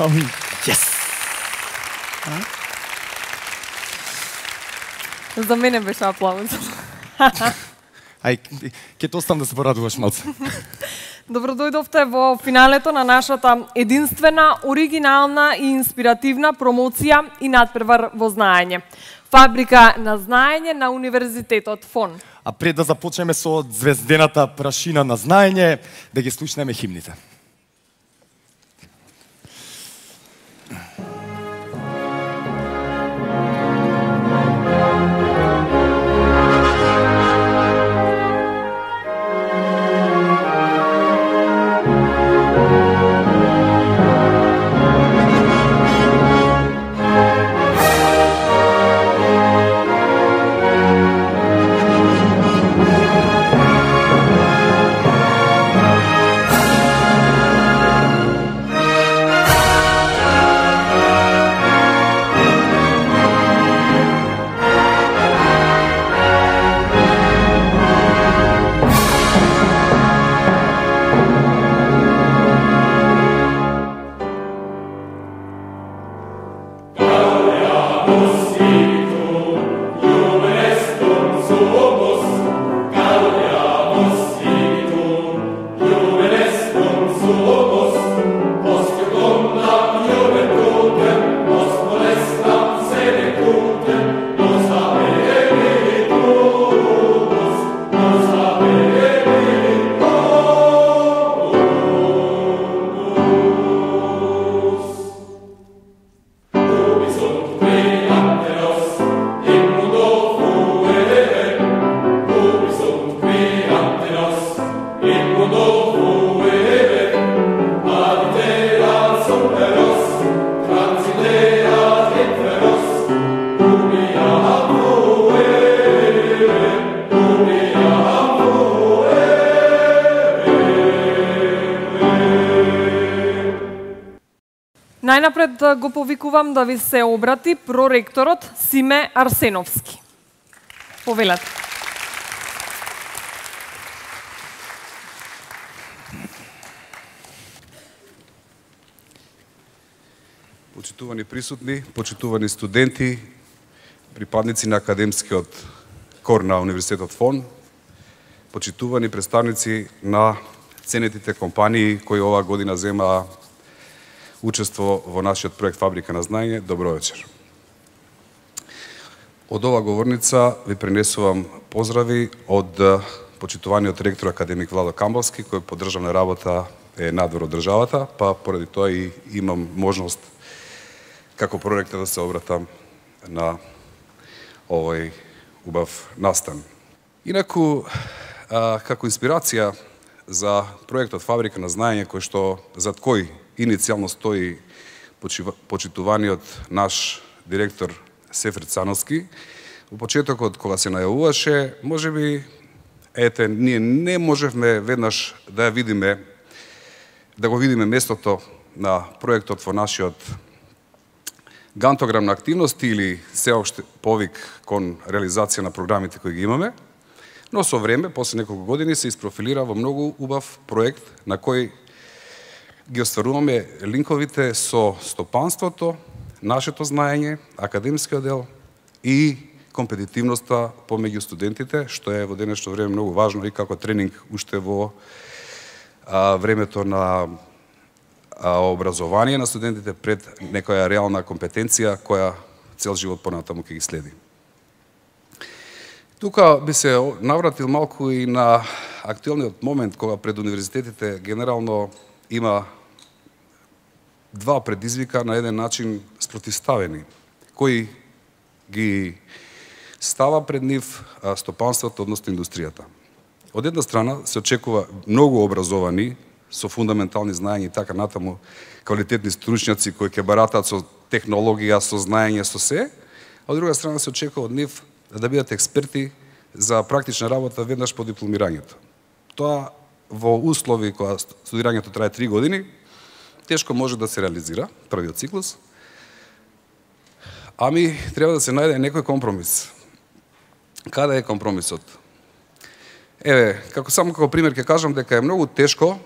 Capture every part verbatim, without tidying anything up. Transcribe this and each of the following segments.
Ами, yes. За мене беше аплауз. Ај, ќе те оставам да се порадуваш малце. Добро дојдовте во финалето на нашата единствена, оригинална и инспиративна промоција и надпревар во знаење. Фабрика на знаење на Универзитетот ФОН. А пред да започнеме со звездената прашина на знаење, да ги слушнеме химните. Најнапред го повикувам да ви се обрати проректорот Симе Арсеновски. Повелете. Почитувани присутни, почитувани студенти, припадници на академскиот кор на Универзитетот ФОН, почитувани представници на ценетите компании кои оваа година земаа учество во нашиот проект Фабрика на знаење, добро вечер. Од ова говорница ви пренесувам поздрави од почитуваниот ректор академик Владо Камбалски, кој по државна работа е надвор од државата, па поради тоа и имам можност како проректор да се обратам на овој убав настан. Инаку, а, како инспирација за проектот Фабрика на знаење, кој што зад кој иницијално стои почитуваниот наш директор Сефер Цановски, во почетокот кога се најавуваше, можеби ете ние не можевме веднаш да ја видиме да го видиме местото на проектот во нашиот гантограм на активности или сеопште повик кон реализација на програмите кои ги имаме, но со време, после неколку години, се isprofilira во многу убав проект на кој ги остваруваме линковите со стопанството, нашето знаење, академскиот дел и компетитивноста помеѓу студентите, што е во денешно време многу важно и како тренинг уште во а, времето на а, образование на студентите пред некоја реална компетенција која цел живот понатаму ќе ги следи. Тука би се навратил малку и на актуелниот момент кога пред универзитетите генерално има два предизвика на еден начин спротивставени, кои ги става пред нив стопанството, односно индустријата. Од една страна се очекува многу образовани, со фундаментални знаења и така натаму, квалитетни стручњаци кои ќе баратаат со технологија, со знаење, со се, а од друга страна се очекува од нив да бидат експерти за практична работа веднаш по дипломирањето. Тоа во услови кога студирањето трае три години, тешко може да се реализира првиот циклус, ами треба да се најде некој компромис. Каде е компромисот? Еве, како само како пример ќе кажам дека е многу тешко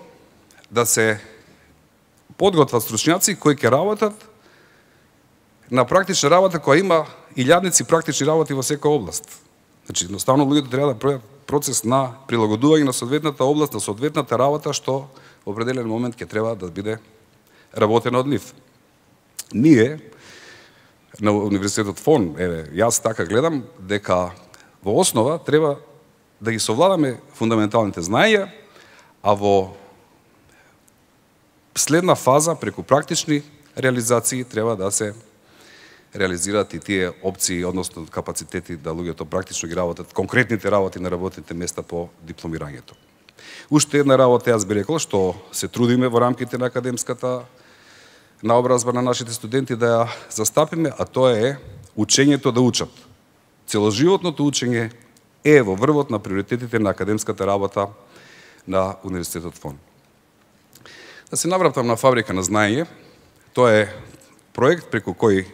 да се подготват стручњаци кои ќе работат на практична работа која има илјадници практични работи во секоја област. Значи, едноставно луѓето треба да прават процес на прилагодување на соодветната област, на соодветната работа што во определен момент ќе треба да биде работена од нив. Ние на Универзитетот ФОН, еве, јас така гледам дека во основа треба да ги совладаме фундаменталните знаења, а во следна фаза преку практични реализации треба да се реализираат и тие опции, односно капацитети да луѓето практично ги работат конкретните работи на работните места по дипломирањето. Уште една работа јас би рекол што се трудиме во рамките на академската наобразба на нашите студенти да ја застапиме, а тоа е учењето да учат. Целоживотното учење е во врвот на приоритетите на академската работа на Универзитетот ФОН. Да се навратам на Фабрика на знаење, тоа е проект преку кој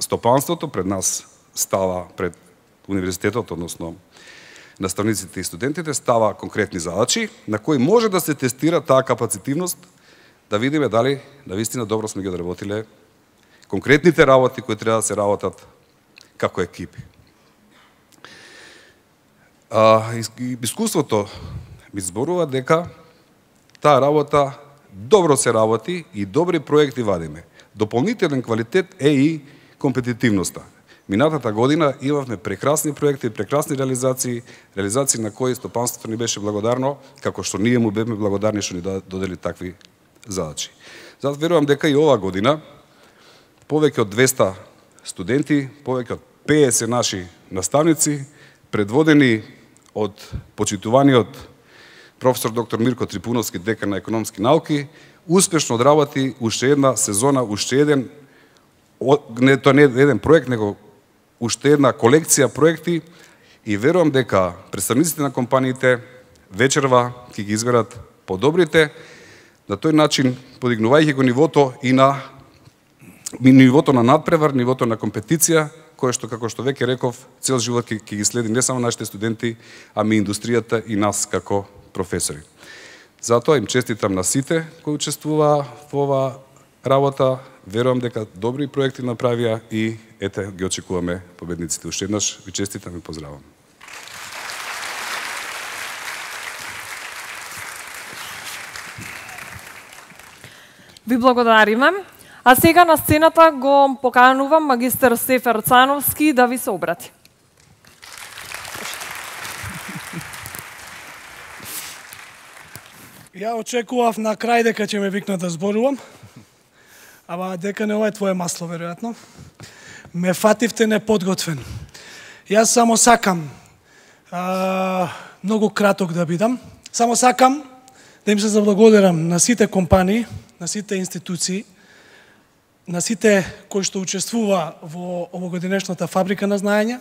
стопанството пред нас става пред универзитетот, односно наставниците и студентите, става конкретни задачи на кои може да се тестира таа капацитивност, да видиме дали навистина добро сме ги одработиле конкретните работи кои треба да се работат како екипи. А, искуството ми зборува дека таа работа добро се работи и добри проекти вадиме. Дополнителен квалитет е и компетитивноста. Минатата година имавме прекрасни проекти, прекрасни реализации, реализации на кои стопанството ни беше благодарно, како што ние му бевме благодарни што ни додели такви задачи. Затоа верувам дека и оваа година повеќе од двеста студенти, повеќе од петдесет наши наставници, предводени од почитуваниот професор доктор Мирко Трипуновски, декан на економски науки, успешно одработи уште една сезона, уште еден не тоа не еден проект, него уште една колекција проекти и верувам дека представниците на компаниите вечерва ќе ги изберат подобрите, на тој начин подигнувајќи го нивото и на нивото на надпревар, нивото на компетиција, кое што, како што веќе реков, цел живот ќе ги следи не само нашите студенти, ами индустријата и нас како професори. Затоа им честитам на сите кои учествуваа во оваа работа. Верувам дека добри проекти направија и ете ги очекуваме победниците. Уште еднаш ви честитам и поздравам. Ви благодариме. А сега на сцената го поканувам магистар Сефер Цановски да ви се обрати. Ја очекував на крај дека ќе ме викнат да зборувам, ама дека не ова е твое масло, веројатно. Ме фативте неподготвен. Јас само сакам, а, многу краток да бидам, само сакам да им се заблагодарам на сите компании, на сите институции, на сите кои што учествува во овогодинешната Фабрика на знаење.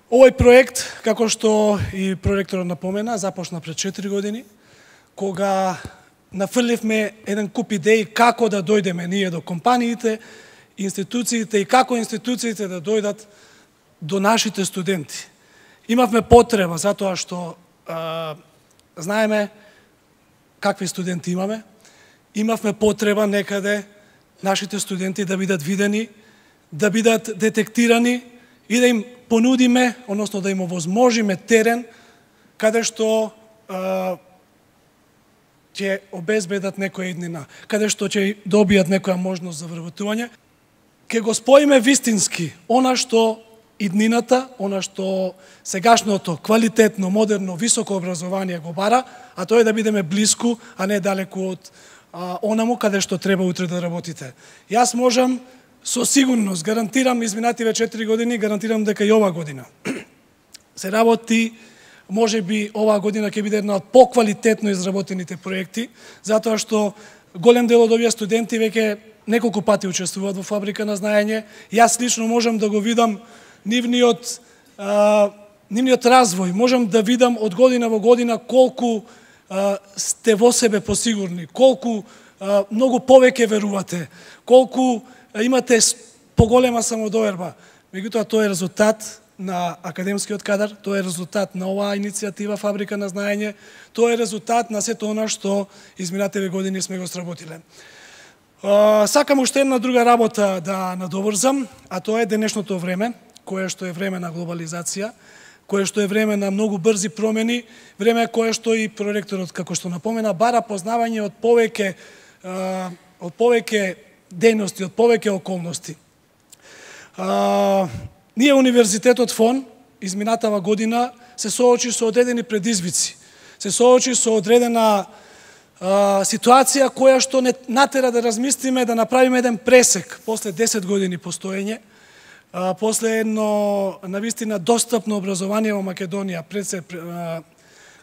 Овој проект, како што и проректорот напомена, започна пред четири години, кога нафрливме еден куп идеи како да дојдеме ние до компаниите, институциите и како институциите да дојдат до нашите студенти. Имавме потреба, затоа што а, знаеме какви студенти имаме, имавме потреба некаде нашите студенти да бидат видени, да бидат детектирани и да им понудиме, односно да им овозможиме терен каде што а, ќе обезбедат некоја иднина, каде што ќе добијат некоја можност за вработување, ќе го споиме вистински она што иднината, она што сегашното квалитетно, модерно, високо образование го бара, а тоа е да бидеме блиску, а не далеку од а, онаму каде што треба утре да работите. Јас можам со сигурност, гарантирам изминативе четири години, гарантирам дека и ова година се работи. Може би оваа година ќе биде една од поквалитетно изработените проекти, затоа што голем дел од овие студенти веќе неколку пати учествуваат во Фабрика на знаење. Јас лично можам да го видам нивниот, а, нивниот развој, можам да видам од година во година колку а, сте во себе посигурни, колку а, многу повеќе верувате, колку а, имате поголема самодоверба. Меѓутоа, тоа е резултат на академскиот кадар, тоа е резултат на оваа иницијатива Фабрика на знаење, тоа е резултат на сето она што изминативе години сме го сработиле. Сакам уште една друга работа да надоврзам, а тоа е денешното време, кое што е време на глобализација, кое што е време на многу брзи промени, време кое што и проректорот, како што напомена, бара познавање од повеќе од повеќе дејности, од повеќе околности. А, ние Универзитетот ФОН изминатава година се соочи со одредени предизвици, се соочи со одредена а, ситуација која што не натера да размислиме, да направиме еден пресек после десет години постоење, а, после едно навистина достапно образование во Македонија пред а,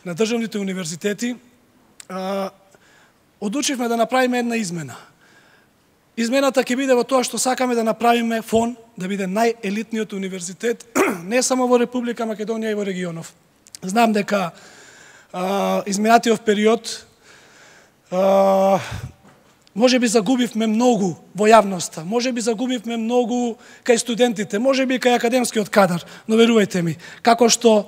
на државните универзитети, а, одлучивме да направиме една измена. Измената ќе биде во тоа што сакаме да направиме ФОН да биде најелитниот универзитет не само во Република Македонија и во регионов. Знам дека а, изминатиот период а, може би загубивме многу во јавноста, може би загубивме многу кај студентите, може би кај академскиот кадар, но верувајте ми, како што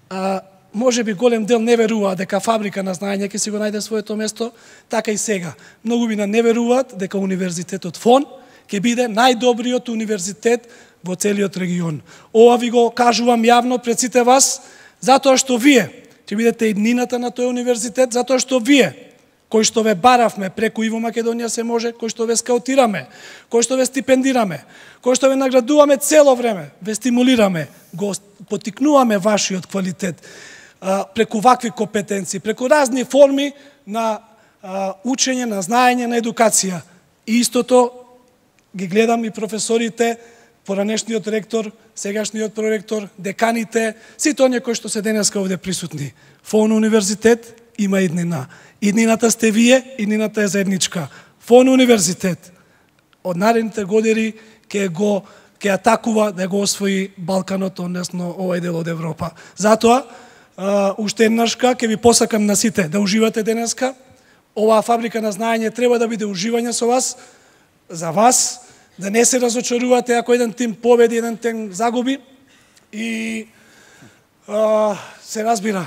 а, може би голем дел не веруваат дека Фабрика на знаење ќе си го најде своето место, така и сега. Многу би не веруваат дека Универзитетот ФОН ќе биде најдобриот универзитет во целиот регион. Ова ви го кажувам јавно пред сите вас, затоа што вие ќе бидете иднината на тој универзитет, затоа што вие, кои што ве баравме преку и во Македонија се може, кои што ве скаутираме, кои што ве стипендираме, кои што ве наградуваме цело време, ве стимулираме, го потикнуваме вашиот квалитет, преку вакви компетенции, преку разни форми на а, учење, на знаење, на едукација. И истото ги гледам и професорите, поранешниот ректор, сегашниот проректор, деканите, сите оние кои што се денеска овде присутни. ФОН универзитет има иднина. Иднината сте вие, иднината е заедничка. ФОН универзитет од наредните години ќе го ќе атакува да го освои Балканот, односно овој дел од Европа. Затоа Uh, уште еднашка ќе ви посакам на сите да уживате денеска. Оваа Фабрика на знаење треба да биде уживање со вас, за вас, да не се разочарувате ако еден тим победи, еден тим загуби. И uh, се разбира,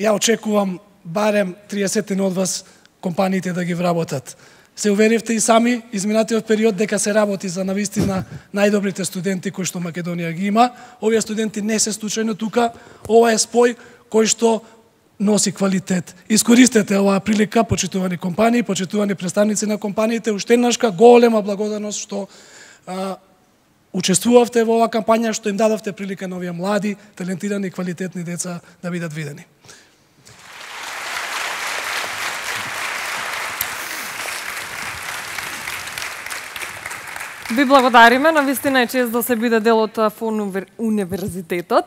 ја очекувам барем триесет од вас компаниите да ги вработат. Се уверивте и сами изминатиот период дека се работи за навистина најдобрите студенти кои што Македонија ги има. Овие студенти не се случајно тука, ова е спој кој што носи квалитет. Искористете оваа прилика, почитувани компании, почитувани представници на компаниите, уште еднашка голема благодарност што а, учествувавте во оваа кампања, што им дадовте прилика на овие млади, талентирани, квалитетни деца да бидат видени. Ви благодариме, навистина е чест да се биде дел од ФОН универзитетот.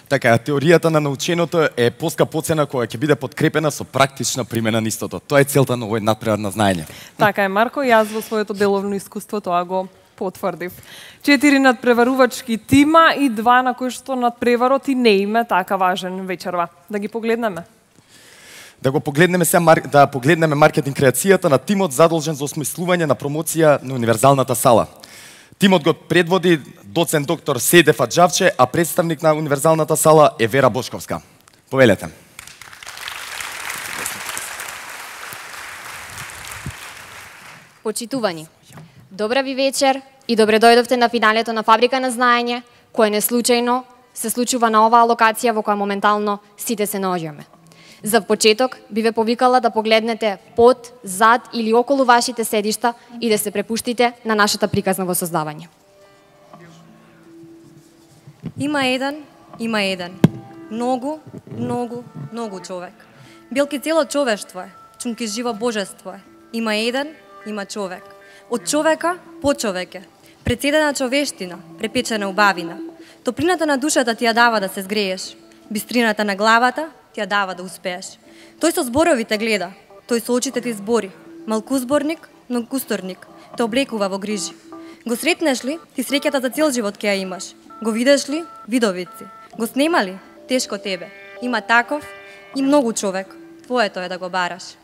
Така, теоријата на наученото е поскапоцена која ќе биде подкрепена со практична примена на истото. Тоа е целта на овој надпревар на знаење. Така е, Марко, јас во своето деловно искуство тоа го потврдив. Четири надпреварувачки тима и два на кои што надпреварот и не име така важен вечерва. Да ги погледнеме. Да го погледнеме се да погледнеме маркетинг креацијата на тимот задолжен за осмислување на промоција на универзалната сала. Тимот го предводи доцент доктор Седеф Аджавче, а представник на универзалната сала е Вера Бошковска. Повелете. Почитувани, добра ви вечер и добре дојдовте на финалето на Фабрика на знаење, кое не случајно се случува на оваа локација во која моментално сите се наоѓаме. За почеток би ве повикала да погледнете под, зад или околу вашите седишта и да се препуштите на нашата приказна во создавање. Има еден, има еден. Многу, многу, многу човек. Билки цело човештво е, чумки живо божество е. Има еден, има човек. Од човека по човеке. Председена човештина, препечена убавина. Топлината на душата ти ја дава да се згрееш. Бистрината на главата ти ја дава да успееш. Тој со зборовите гледа, тој со очите ти збори. Малкузборник, многукусторник, те облекува во грижи. Го сретнеш ли, ти среќата за цел живот ќе ја имаш. Го видеш ли, видовици. Го снема ли, тешко тебе. Има таков и многу човек. Твоето е да го бараш.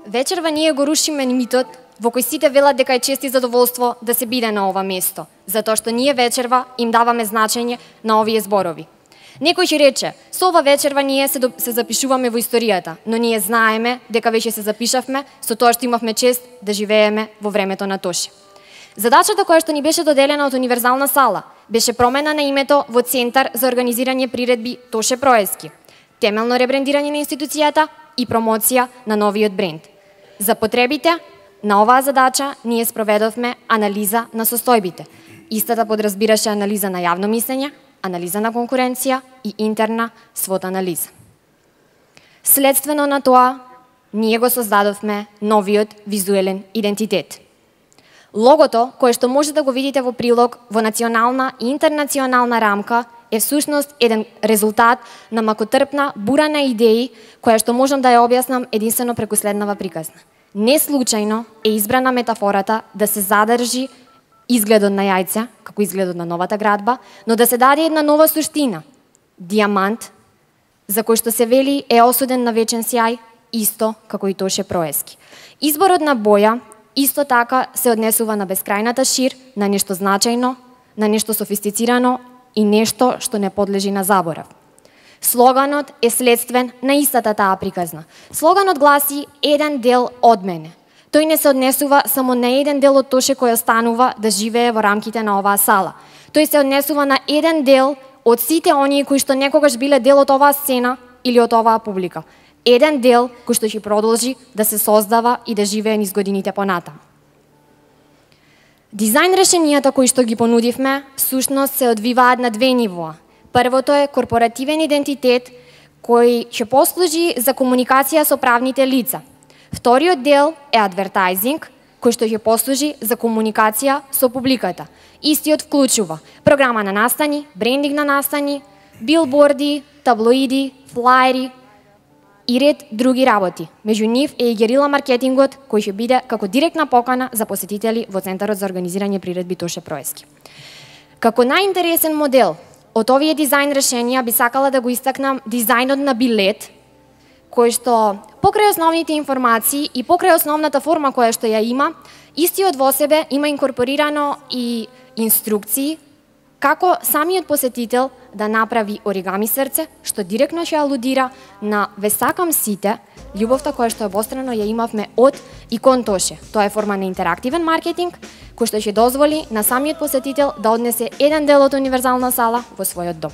Вечерва ние го рушиме митот во кој сите велат дека е чест и задоволство да се биде на ова место, затоа што ние вечерва им даваме значење на овие зборови. Некој ќе рече, со ова вечерва ние се, до, се запишуваме во историјата, но ние знаеме дека веќе се запишавме со тоа што имавме чест да живееме во времето на Тоше. Задачата која што ни беше доделена од Универзална сала беше промена на името во Центар за организирање приредби Тоше Проески, темелно ребрендирање на институцијата и промоција на новиот бренд. За потребите на оваа задача ние спроведовме анализа на состојбите. Истата подразбираше анализа на јавно мислење, анализа на конкуренција и интерна свот анализа. Следствено на тоа, ние го создадовме новиот визуелен идентитет. Логото, кое што може да го видите во прилог во национална и интернационална рамка, е всушност еден резултат на макотрпна бура на идеи, која што можам да ја објаснам единствено преку следнава приказна. Не случајно е избрана метафората да се задржи изгледот на јајце, како изгледот на новата градба, но да се даде една нова суштина. Дијамант, за кој што се вели е осуден на вечен сјај, исто како и Тоше Проески. Изборот на боја исто така се однесува на бескрајната шир, на нешто значајно, на нешто софистицирано и нешто што не подлежи на заборав. Слоганот е следствен на истата таа приказна. Слоганот гласи еден дел од мене. Тој не се однесува само на еден дел од Тоше кој останува да живее во рамките на оваа сала. Тој се однесува на еден дел од сите оние кои што некогаш биле дел од оваа сцена или од оваа публика. Еден дел кој што ќе продолжи да се создава и да живее низ годините понатаму. Дизајн решенијата кои што ги понудивме, всушност се одвиваат на две нивоа. Првото е корпоративен идентитет кој ќе послужи за комуникација со правните лица. Вториот дел е адвертајзинг, кој што ќе послужи за комуникација со публиката. Истиот вклучува програма на настани, брендинг на настани, билборди, таблоиди, флаери и ред други работи. Меѓу нив е и герила маркетингот, кој ќе биде како директна покана за посетители во Центарот за организирање приредби Тоше Проески. Како најинтересен модел од овие дизајн решенија би сакала да го истакнам дизајнот на билет, кој што покрај основните информации и покрај основната форма која што ја има, истиот во себе има инкорпорирано и инструкции како самиот посетител да направи оригами срце, што директно ќе алудира на "Ве сакам сите", љубовта која што обострано ја имавме од и кон Тоше. Тоа е форма на интерактивен маркетинг, кој што ќе дозволи на самиот посетител да однесе еден дел од Универзална сала во својот дом.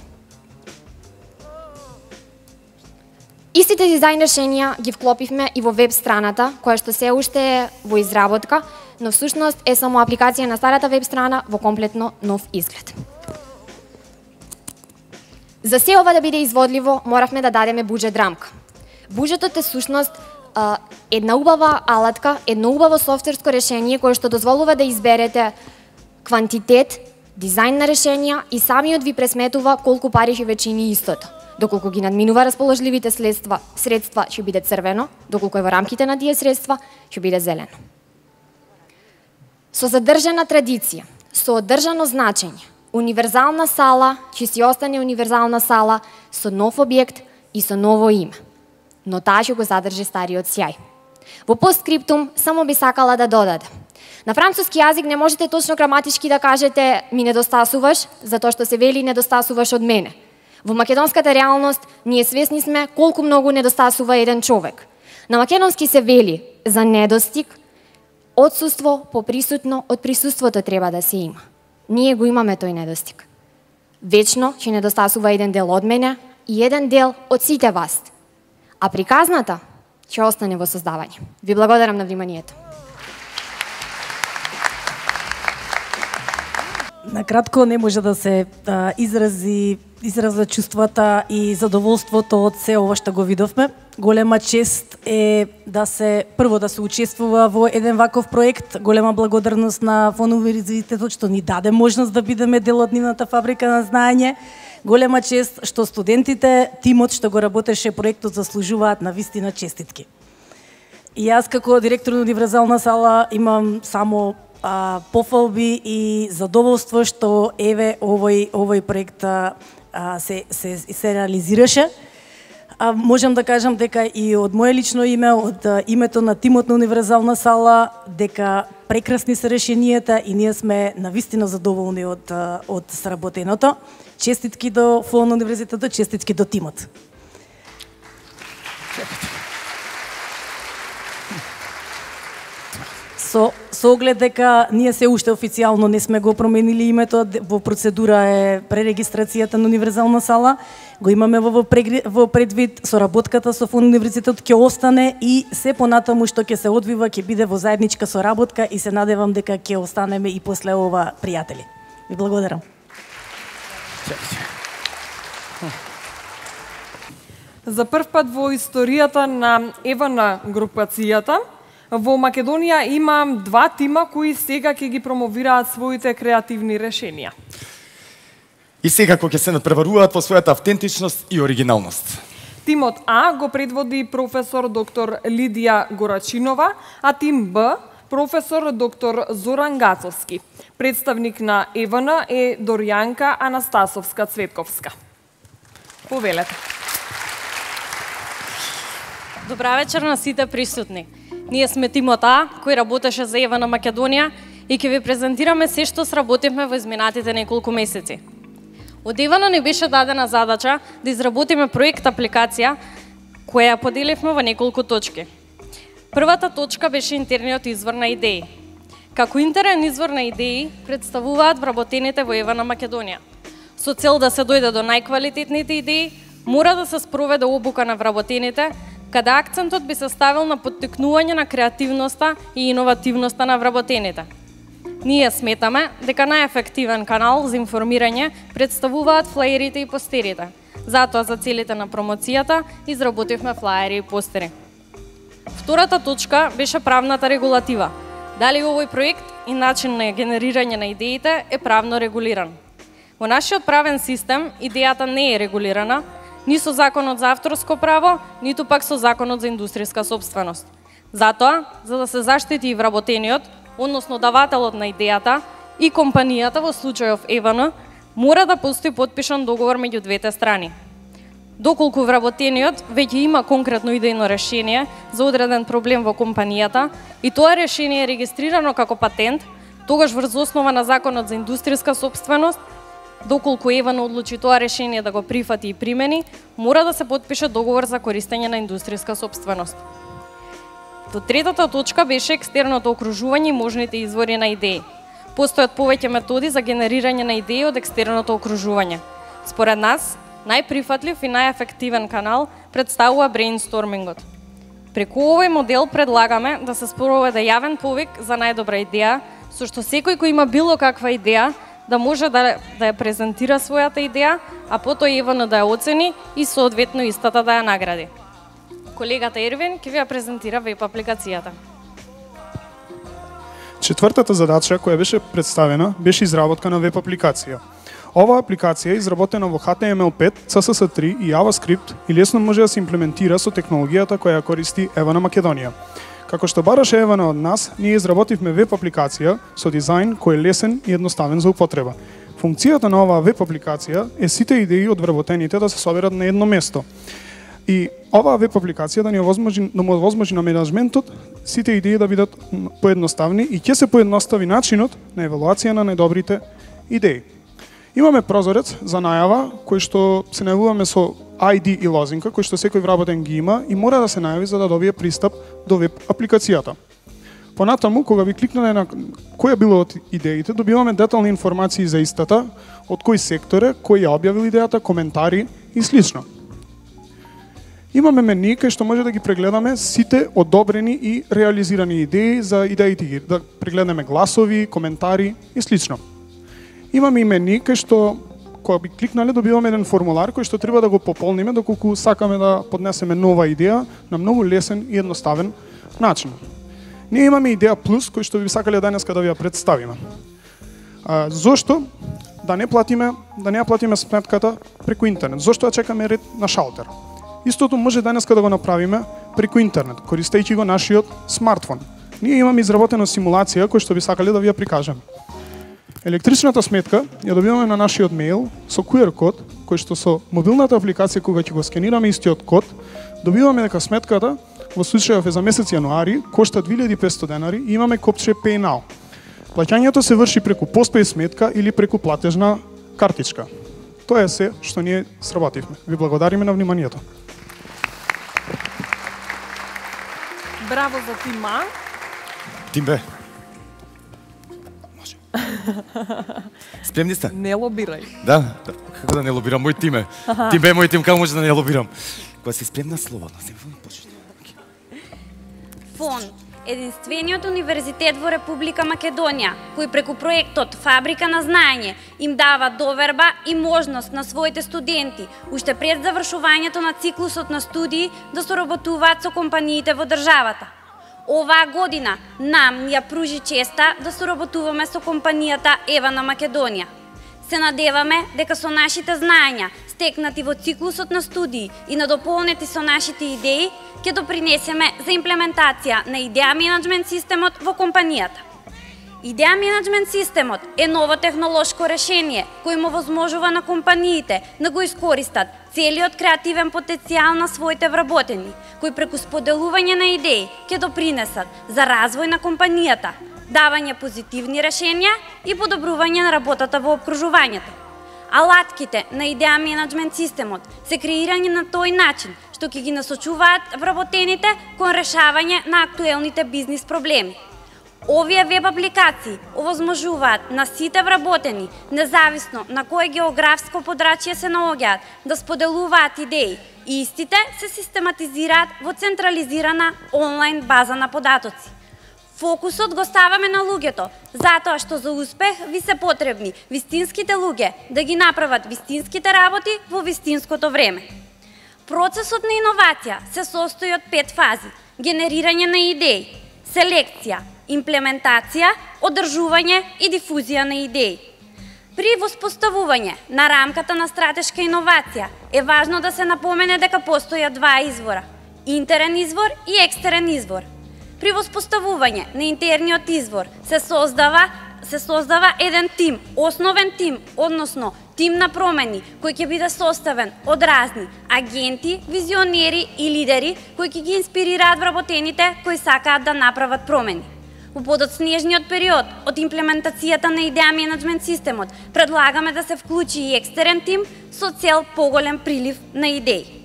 Истите дизајн решенија ги вклопивме и во веб страната, која што се уште е во изработка, но всушност е само апликација на старата веб страна во комплетно нов изглед. За се ова да биде изводливо, моравме да дадеме буџет рамка. Буџетот е всушност една убава алатка, едно убаво софтверско решение кое што дозволува да изберете квантитет, дизајн на решенија и самиот ви пресметува колку пари ќе ве чини истото. Доколку ги надминува расположливите средства, средства ќе биде црвено, доколку е во рамките на тие средства, ќе биде зелено. Со задржана традиција, со одржано значење, Универзална сала ќе си остане Универзална сала со нов објект и со ново име. Но таа ќе го задржи стариот сјај. Во постскриптум само би сакала да додадам. На француски јазик не можете точно граматички да кажете ми недостасуваш, затоа што се вели недостасуваш од мене. Во македонската реалност ние свесни сме колку многу недостасува еден човек. На македонски се вели за недостиг, отсуство поприсутно од присуството треба да се има. Ние го имаме тој недостиг. Вечно ќе недостасува еден дел од мене и еден дел од сите вас. А приказната ќе остане во создавање. Ви благодарам на вниманието. Накратко не може да се а, изрази израза чувствата и задоволството од се ова што го видовме. Голема чест е да се прво да се учествува во еден ваков проект. Голема благодарност на Фон Универзитетот што ни даде можност да бидеме дел од нивната фабрика на знаење. Голема чест што студентите, тимот што го работеше проектот заслужуваат на вистина честитки. И јас како директор на Универзална сала имам само а, пофалби и задоволство што еве овој овој проект а, се се се реализираше. А можам да кажам дека и од мое лично име, од името на тимот на Универзална сала, дека прекрасни се решенијата и ние сме навистина задоволни од од сработеното. Честитки до ФОН на универзитетот, честитки до тимот. Со, со оглед дека ние се уште официјално не сме го променили името, во процедура е пререгистрацијата на Универзална сала, го имаме во, во предвид, соработката со ФОН универзитетот ќе остане и се понатаму што ќе се одвива ќе биде во заедничка соработка и се надевам дека ќе останеме и после ова пријатели. Ви благодарам. За прв пат во историјата на ЕВН групацијата, во Македонија има два тима кои сега ќе ги промовираат своите креативни решенија. И секако ќе се надпреваруваат во својата автентичност и оригиналност. Тимот А го предводи професор доктор Лидија Горачинова, а тим Б професор доктор Зоран Гацовски. Представник на ЕВН е Дорјанка Анастасовска-Цветковска. Повелете. Добра вечер на сите присутни. Ние сме тимот А, кој работеше за ЕВН Македонија и ќе ви презентираме се што сработивме во изминатите неколку месеци. Од ЕВН ни беше дадена задача да изработиме проект апликација која ја поделивме во неколку точки. Првата точка беше интерниот извор на идеи. Како интерен извор на идеи представуваат вработените во ЕВН Македонија. Со цел да се дојде до најквалитетните идеи, мора да се спроведе обука на вработените, каде акцентот би се ставил на поттикнување на креативноста и иновативноста на вработените. Ние сметаме дека најефективен канал за информирање представуваат флаерите и постерите. Затоа за целите на промоцијата изработивме флаери и постери. Втората точка беше правната регулатива. Дали овој проект и начин на генерирање на идеите е правно регулиран? Во нашиот правен систем идејата не е регулирана, ни со Законот за авторско право, ниту пак со Законот за индустријска сопственост. Затоа, за да се заштити и вработениот, односно давателот на идејата и компанијата во случајов ЕВН, мора да постои потпишан договор меѓу двете страни. Доколку вработениот веќе има конкретно идејно решение за одреден проблем во компанијата и тоа решение е регистрирано како патент, тогаш врз основа на Законот за индустријска сопственост, доколку ЕВН одлучи тоа решение да го прифати и примени, мора да се потпише договор за користење на индустријска сопственост. До третата точка беше екстерното окружување и можните извори на идеи. Постојат повеќе методи за генерирање на идеи од екстерното окружување. Според нас, најприфатлив и најефективен канал представува брейнстормингот. Преку овој модел предлагаме да се спроведе јавен повик за најдобра идеја, со што секој кој има било каква идеја да може да, да ја презентира својата идеја, а потоа ЕВН да ја оцени и соодветно истата да ја награди. Колегата Ервин ќе ви ја презентира веб апликацијата. Четвртата задача која беше представена беше изработка на веб апликација. Оваа апликација е изработена во H T M L пет, C S S три и JavaScript и лесно може да се имплементира со технологијата која ја користи ЕВН Македонија. Како што бараше ЕВН од нас, ние изработивме веб апликација со дизајн кој е лесен и едноставен за употреба. Функцијата на оваа веб апликација е сите идеи од вработените да се соберат на едно место. И оваа веб апликација да ни овозможи, да му овозможи на менеджментот сите идеи да бидат поедноставни и ќе се поедностави начинот на евалуација на најдобрите идеи. Имаме прозорец за најава кој што се најавуваме со I D и лозинка кој што секој вработен ги има и мора да се најави за да добие пристап до веб апликацијата. Понатаму, кога ви кликнале на која било од идеите, добиваме детални информации за истата, од кој сектор е, кој ја објавил идејата, коментари и слично. Имаме мени кај што може да ги прегледаме сите одобрени и реализирани идеи за идеите, да прегледаме гласови, коментари и слично. Имаме и мени кај што кога би кликнале добиваме еден формулар кој што треба да го пополниме доколку сакаме да поднесеме нова идеја на многу лесен и едноставен начин. Ние имаме идеја плюс кој што би сакале денеска да ви ја представиме. А, зошто да не платиме, да не ја платиме сметката преку интернет? Зошто ја чекаме ред на шалтер? Истото може денеска да го направиме преку интернет, користејќи го нашиот смартфон. Ние имаме изработена симулација кој што би сакале да ви ја прикажеме. Електричната сметка ја добиваме на нашиот мејл со Q R код кој што со мобилната апликација кога ќе го скенираме истиот код, добиваме дека сметката во случајов е за месец јануари, кошта две илјади и петстотини денари и имаме копче Pay Now. Плаќањето се врши преку постпеј сметка или преку платежна картичка. Тоа е се што ние сработивме. Ви благодариме на вниманието. Браво за тима. Тимбе. Може. Спремни сте? Не лобирај. Да, како да не лобирам мој тиме. Тимбе мој тим, како може да не лобирам? Кога си спремна слободно, се почне. ФОН, единствениот универзитет во Република Македонија, кој преку проектот Фабрика на знаење им дава доверба и можност на своите студенти, уште пред завршувањето на циклусот на студии, да соработуваат со компаниите во државата. Оваа година нам ни ја пружи честа да соработуваме со компанијата Ева на Македонија. Се надеваме дека со нашите знаења, стекнати во циклусот на студии и надополнети со нашите идеи, ќе допринесеме за имплементација на идеја менеджмент системот во компанијата. Идеја менеджмент системот е ново технолошко решение кој му возможува на компаниите да го искористат целиот креативен потенцијал на своите вработени, кои преку споделување на идеи ќе допринесат за развој на компанијата, давање позитивни решенија и подобрување на работата во опкружувањето. Алатките на идеја менеджмент системот се креирани на тој начин што ќе ги насочуваат вработените кон решавање на актуелните бизнис проблеми. Овие веб апликации овозможуваат на сите вработени, независно на кое географско подрачје се наоѓаат, да споделуваат идеи и истите се систематизираат во централизирана онлайн база на податоци. Фокусот го ставаме на луѓето, затоа што за успех ви се потребни вистинските луѓе да ги направат вистинските работи во вистинското време. Процесот на иновација се состои од пет фази: генерирање на идеи, селекција, имплементација, одржување и дифузија на идеи. При воспоставување на рамката на стратешка иновација е важно да се напомене дека постојат два извора: интерен извор и екстерен извор. При воспоставување на интерниот извор се создава се создава еден тим, основен тим, односно тим на промени, кој ќе биде составен од разни агенти, визионери и лидери кои ќе ги инспирираат вработените кои сакаат да направат промени. Во подоцнежниот период од имплементацијата на идеја менеджмент системот предлагаме да се вклучи и екстерен тим со цел поголем прилив на идеи.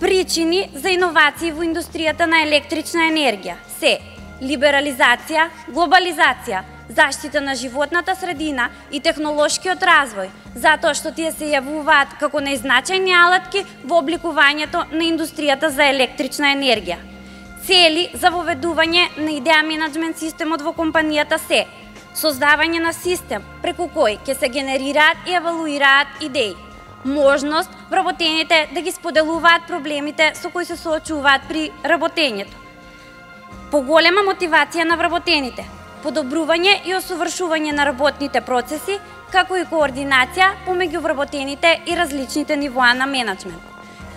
Причини за иновации во индустријата на електрична енергија се либерализација, глобализација, заштита на животната средина и технолошкиот развој, затоа што тие се јавуваат како најзначајни алатки во обликувањето на индустријата за електрична енергија. Цели за воведување на идеја менеджмент системот во компанијата се создавање на систем преку кој ќе се генерираат и евалуираат идеи, можност вработените да ги споделуваат проблемите со кои се соочуваат при работењето, поголема мотивација на вработените, подобрување и осовршување на работните процеси, како и координација помеѓу вработените и различните нивоа на менеджмент.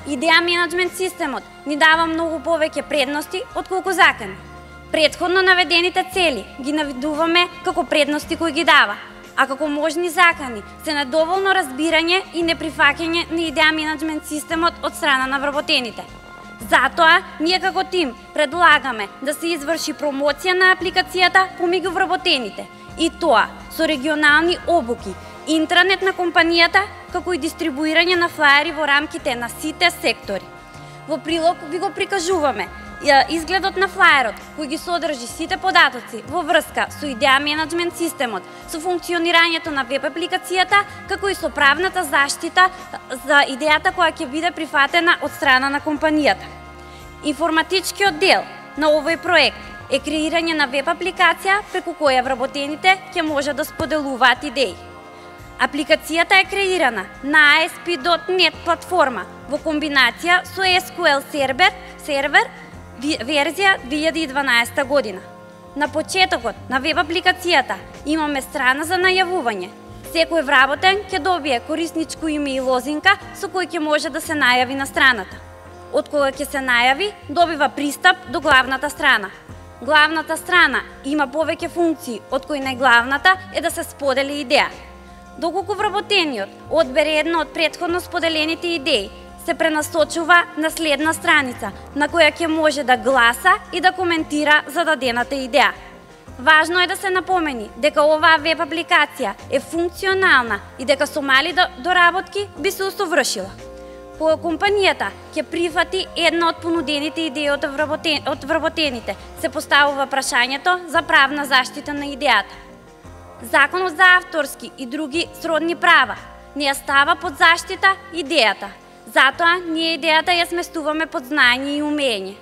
Идеја менеджмент системот ни дава многу повеќе предности отколку закани. Претходно наведените цели ги наведуваме како предности кои ги дава, а како можни закани се недоволно разбирање и неприфаќање на идеја менеджмент системот од страна на вработените. Затоа, ние како тим предлагаме да се изврши промоција на апликацијата помеѓу вработените, и тоа со регионални обуки, интранет на компанијата, како и дистрибуирање на флаери во рамките на сите сектори. Во прилог ви го прикажуваме изгледот на флаерот, кој ги содржи сите податоци во врска со идеја менеджмент системот, со функционирањето на веб апликацијата, како и со правната заштита за идејата која ќе биде прифатена од страна на компанијата. Информатичкиот дел на овој проект е креирање на веб апликација преку која вработените ќе може да споделуваат идеи. Апликацијата е креирана на ей ес пи точка нет платформа во комбинација со ес кю ел сервер, сервер верзија две илјади и дванаесета година. На почетокот на веб апликацијата имаме страна за најавување. Секој вработен ќе добие корисничко име и лозинка со кој ќе може да се најави на страната. Од кога ќе се најави, добива пристап до главната страна. Главната страна има повеќе функции, од кои најглавната е да се сподели идеја. Доколку вработениот одбере една од претходно споделените идеи, се пренасочува на следна страница, на која ќе може да гласа и да коментира зададената идеја. Важно е да се напомени дека оваа веб апликација е функционална и дека со мали доработки би се усовршила. Кога компанијата ќе прифати една од понудените идеи од вработените, се поставува прашањето за правна заштита на идејата. Законот за авторски и други сродни права не ја става под заштита идејата. Затоа ние идејата ја сместуваме под знаење и умење.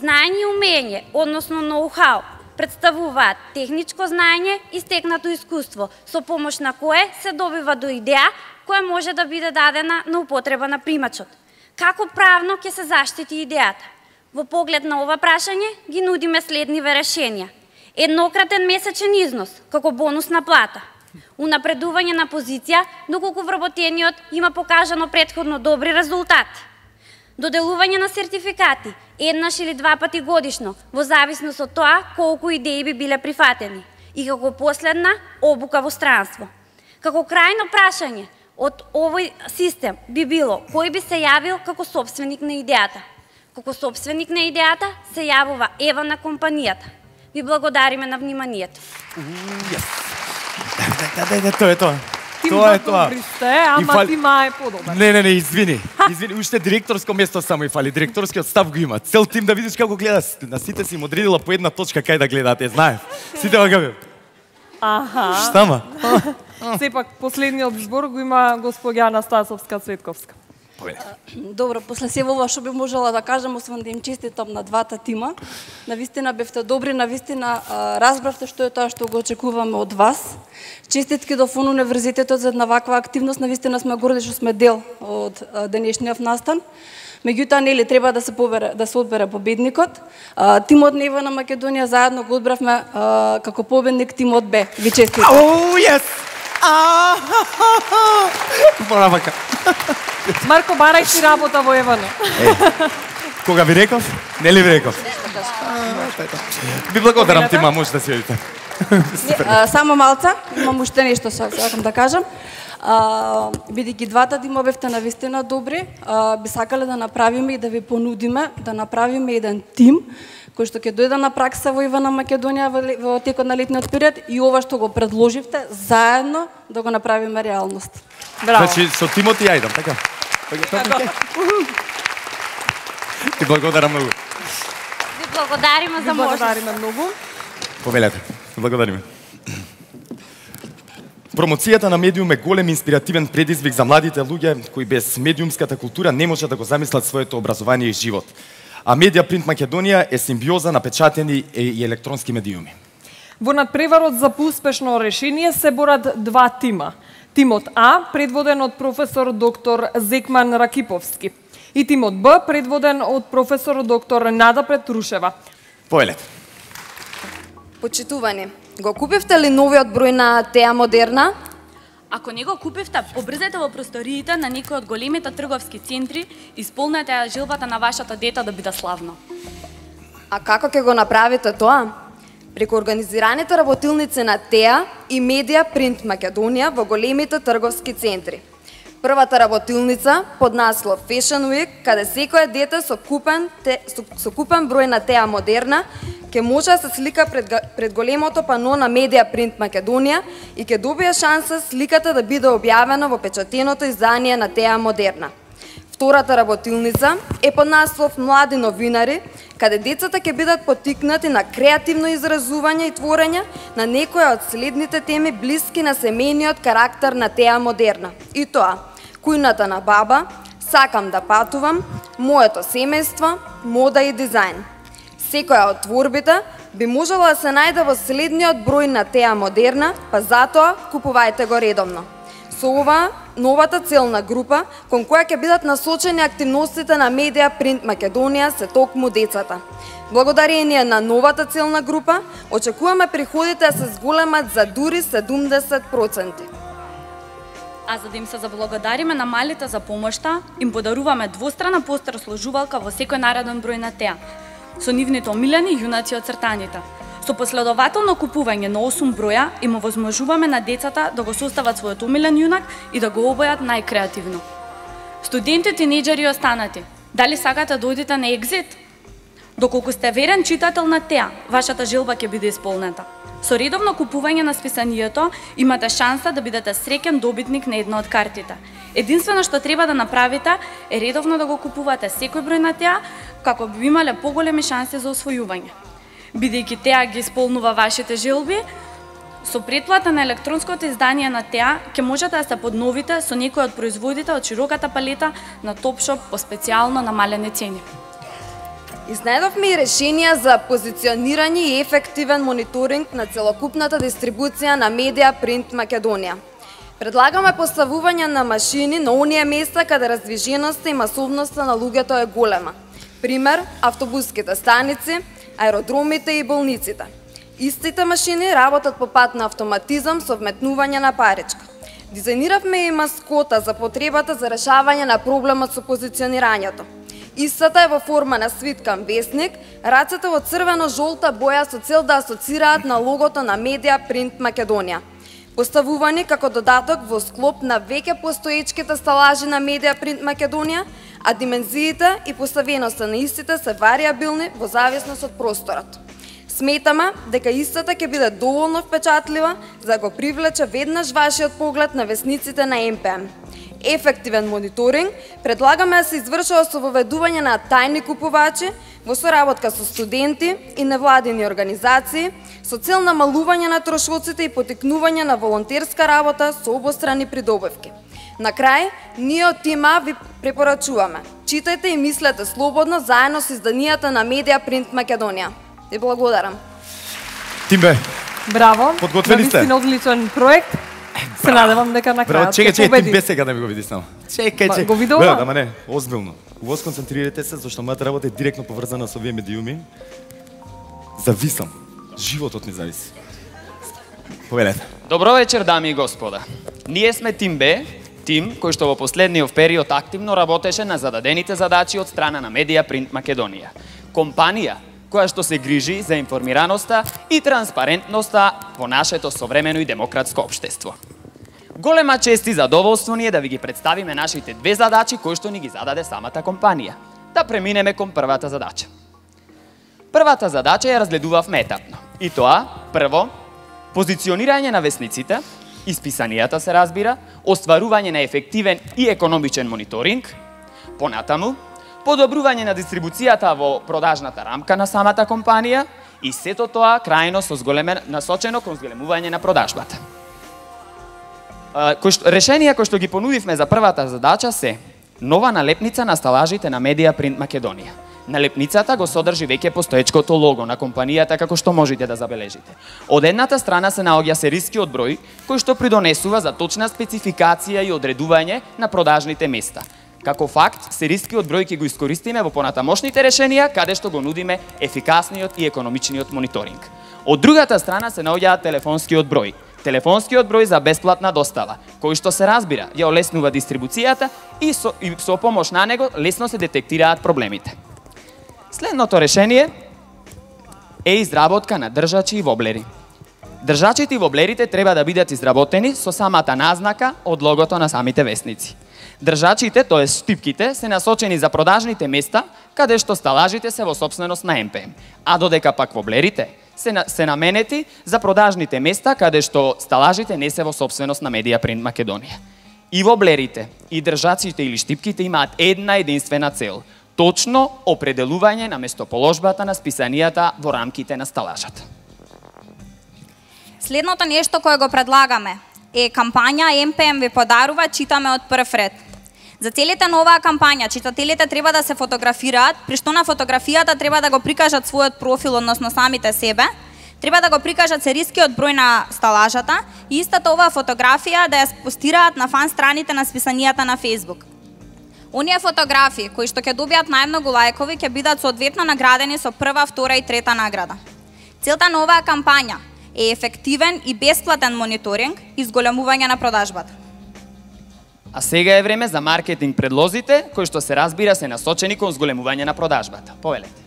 Знаење и умење, односно ноу-хау, представуваат техничко знаење и стекнато искуство, со помош на кое се добива до идеја која може да биде дадена на употреба на примачот. Како правно ќе се заштити идејата? Во поглед на ова прашање ги нудиме следниве решенија. Еднократен месечен износ, како бонусна плата. Унапредување на позиција, доколку вработениот има покажано претходно добри резултати. Доделување на сертификати, еднаш или два пати годишно, во зависност од тоа колку идеи би биле прифатени. И како последна, обука во странство. Како крајно прашање од овој систем би било кој би се јавил како собственик на идејата. Како собственик на идејата се јавува ева на компанијата. Ви благодариме на вниманието. Да, да, да, тоа е тоа. Тим Тоа е да тоа. добри сте, ама фали... тима е подобар. Не, не, не, извини. Извини, уште директорско место само и фали. Директорскиот став го има. Цел тим да видиш како гледа. На сите си им одредила по една точка кај да гледаат, е, знаев. Сите вака. Аха. Штама? Сепак последниот збор го има господја Анастасовска Цветковска. Добро, после се ова што би можела да кажам, освен да им честитам на двата тима. Навистина бевте добри, навистина разбравте што е тоа што го очекуваме од вас. Честитки до Фон универзитетот за една ваква активност, навистина сме горди што сме дел од денешниот настан. Меѓутоа, нели треба да се побере, да се одбере победникот. Тимот на Ева на Македонија заедно го одбравме како победник тимот Б. Ви честитам. Оу, јес! Мора вака. Марко, барај си работа во Евана. Кога ви реков? Нели ви реков? Ви благодарам тима, може да си одите. Само малца, имам уште нешто сакам да кажам. Бидејќи двата тима бевте навистина добри, би сакале да направиме и да ви понудиме да направиме еден тим кој што ќе дојде на пракса во Ивана Македонија во текот на летниот период и ова што го предложивте заедно да го направиме реалност. Браво. Значи со тимот и ајдам, така? Ти благодарам многу. Ви благодариме за можност. Благодариме многу. Повелете. Благодариме. Промоцијата на медиум е голем инспиративен предизвик за младите луѓе кои без медиумската култура не можат да го замислат своето образование и живот. А Медиа Принт Македонија е симбиоза на печатени и електронски медиуми. Во надпреварот за поуспешно решение се борат два тима. Тимот А, предводен од професор доктор Зекман Ракиповски, и тимот Б, предводен од професор доктор Нада Петрушева. Поелете. Почитувани, го купивте ли новиот број на Теа Модерна? Ако не го купивте, побрзете во просториите на некој од големите трговски центри и исполнете ја желбата на вашето дете да биде славно. А како ќе го направите тоа? Преку организираните работилници на Теа и Медиа Принт Македонија во големите трговски центри. Првата работилница под наслов Fashion Week, каде секое дете со купен, те, со, со купен број на Теа Модерна ќе може да се слика пред, пред големото пано на Медиа Принт Македонија и ќе добие шанса сликата да биде објавена во печатеното издание на Теа Модерна. Втората работилница е под наслов Млади новинари, каде децата ќе бидат поттикнати на креативно изразување и творење на некоја од следните теми блиски на семејниот карактер на Теа Модерна. И тоа, кујната на баба, сакам да патувам, моето семејство, мода и дизајн. Секоја од творбите би можела да се најде во следниот број на Теа Модерна, па затоа купувајте го редовно. Со ова, новата целна група, кон која ќе бидат насочени активностите на Медиа Принт Македонија се токму децата. Благодарение на новата целна група, очекуваме приходите да се зголемат за дури седумдесет проценти. А за да им се заблагодариме на малите за помошта, им подаруваме двострана постер сложувалка во секој нареден број на Теа, со нивните омилени јунаци од цртаните. Со последователно купување на осум броја им овозможуваме на децата да го состават својот омилен јунак и да го обојат најкреативно. Студенти, тинејџери и останати, дали сакате да одите на екзит? Доколку сте верен читател на теа, вашата желба ќе биде исполнета. Со редовно купување на списанието имате шанса да бидете среќен добитник на една од картите. Единствено што треба да направите е редовно да го купувате секој број на теа, како би имале поголеми шанси за освојување. Бидејќи теа ги исполнува вашите желби, со претплата на електронското издание на теа ќе можете да се подновите со некој од производите од широката палета на Топшоп по специјално намалени цени. Изнајдовме и решенија за позиционирање и ефективен мониторинг на целокупната дистрибуција на медија Принт Македонија. Предлагаме поставување на машини на оние места каде раздвиженоста и масовноста на луѓето е голема. Пример, автобуските станици, аеродромите и болниците. Истите машини работат по пат на автоматизам со вметнување на паричка. Дизајниравме и маскота за потребата за решавање на проблемот со позиционирањето. Истата е во форма на свиткан весник, рацете во црвено-жолта боја со цел да асоцираат на логото на медија Принт Македонија. Поставувани како додаток во склоп на веќе постоечките сталажи на медија Принт Македонија, а димензиите и поставеноста на истите се варијабилни во зависност од просторот. Сметаме дека истата ќе биде доволно впечатлива за да го привлече веднаш вашиот поглед на весниците на Ем Пе Ем. Ефективен мониторинг предлагаме да се извршува со воведување на тајни купувачи во соработка со студенти и невладини организации со цел намалување на трошоците и потикнување на волонтерска работа со обострани придобивки. На крај, ние од Тим А ви препорачуваме: читајте и мислете слободно заедно со изданијата на медија Принт Македонија. И благодарам. Тимбе. Браво. Подготвени сте. Навистина одличен проект. Се надевам дека на крајот ќе ќе Чекај, победи. чекај, Тимбе сега да ми го видиш само. Чекај, чекај. Го видов? Ама не, озбилно. Во сконцентрирате се, зашто мојата работа е директно поврзана со овие медиуми. Зависам. Животот ми зависи. Повелете. Добро вечер, дами и господа. Ние сме Тим Б, тим кој што во последниот период активно работеше на зададените задачи од страна на медија Принт Македонија. Компанија која што се грижи за информираноста и транспарентноста во нашето современо и демократско општество. Голема чест и задоволство ни е да ви ги представиме нашите две задачи кои што ни ги зададе самата компанија. Да преминеме кон првата задача. Првата задача ја разгледувавме етапно. И тоа, прво, позиционирање на весниците, исписанијата се разбира, остварување на ефективен и економичен мониторинг, понатаму, подобрување на дистрибуцијата во продажната рамка на самата компанија и сето тоа крајно со зголемен насочено кон зголемување на продажбата. Кој што, решенија кои што ги понудивме за првата задача се нова налепница на сталажите на медија Принт Македонија. Налепницата го содржи веќе постоечкото лого на компанијата како што можете да забележите. Од едната страна се наоѓа серискиот број кој што придонесува за точна спецификација и одредување на продажните места. Како факт, серискиот број ќе го искористиме во понатамошните решенија каде што го нудиме ефикасниот и економичниот мониторинг. Од другата страна се наоѓа телефонскиот број. Телефонскиот број за бесплатна достава, кој што се разбира, ја олеснува дистрибуцијата и со, и со помош на него лесно се детектираат проблемите. Следното решение е изработка на држачи и воблери. Држачите и воблерите треба да бидат изработени со самата назнака од логото на самите весници. Држачите, тоа е штипките, се насочени за продажните места каде што сталажите се во сопственост на Ем Пе Ем, а додека пак воблерите се, на, се наменети за продажните места каде што сталажите не се во сопственост на медија Принт Македонија. И воблерите, и држачите или штипките имаат една единствена цел – точно определување на местоположбата на списанијата во рамките на сталажата. Следното нешто кое го предлагаме е кампања Ем Пе Ем ви подарува читаме од прв ред. За целите на оваа кампања читателите треба да се фотографираат, при што на фотографијата треба да го прикажат својот профил, односно самите себе, треба да го прикажат серискиот број на сталажата и истата оваа фотографија да ја постираат на фан страните на списанијата на Facebook. Оние фотографии кои што ќе добијат најмногу лајкови ќе бидат соодветно наградени со прва, втора и трета награда. Целта на оваа кампања е ефективен и бесплатен мониторинг и зголемување на продажбата. А сега е време за маркетинг предлозите, кои што се разбира се насочени кон зголемување на продажбата. Повелете.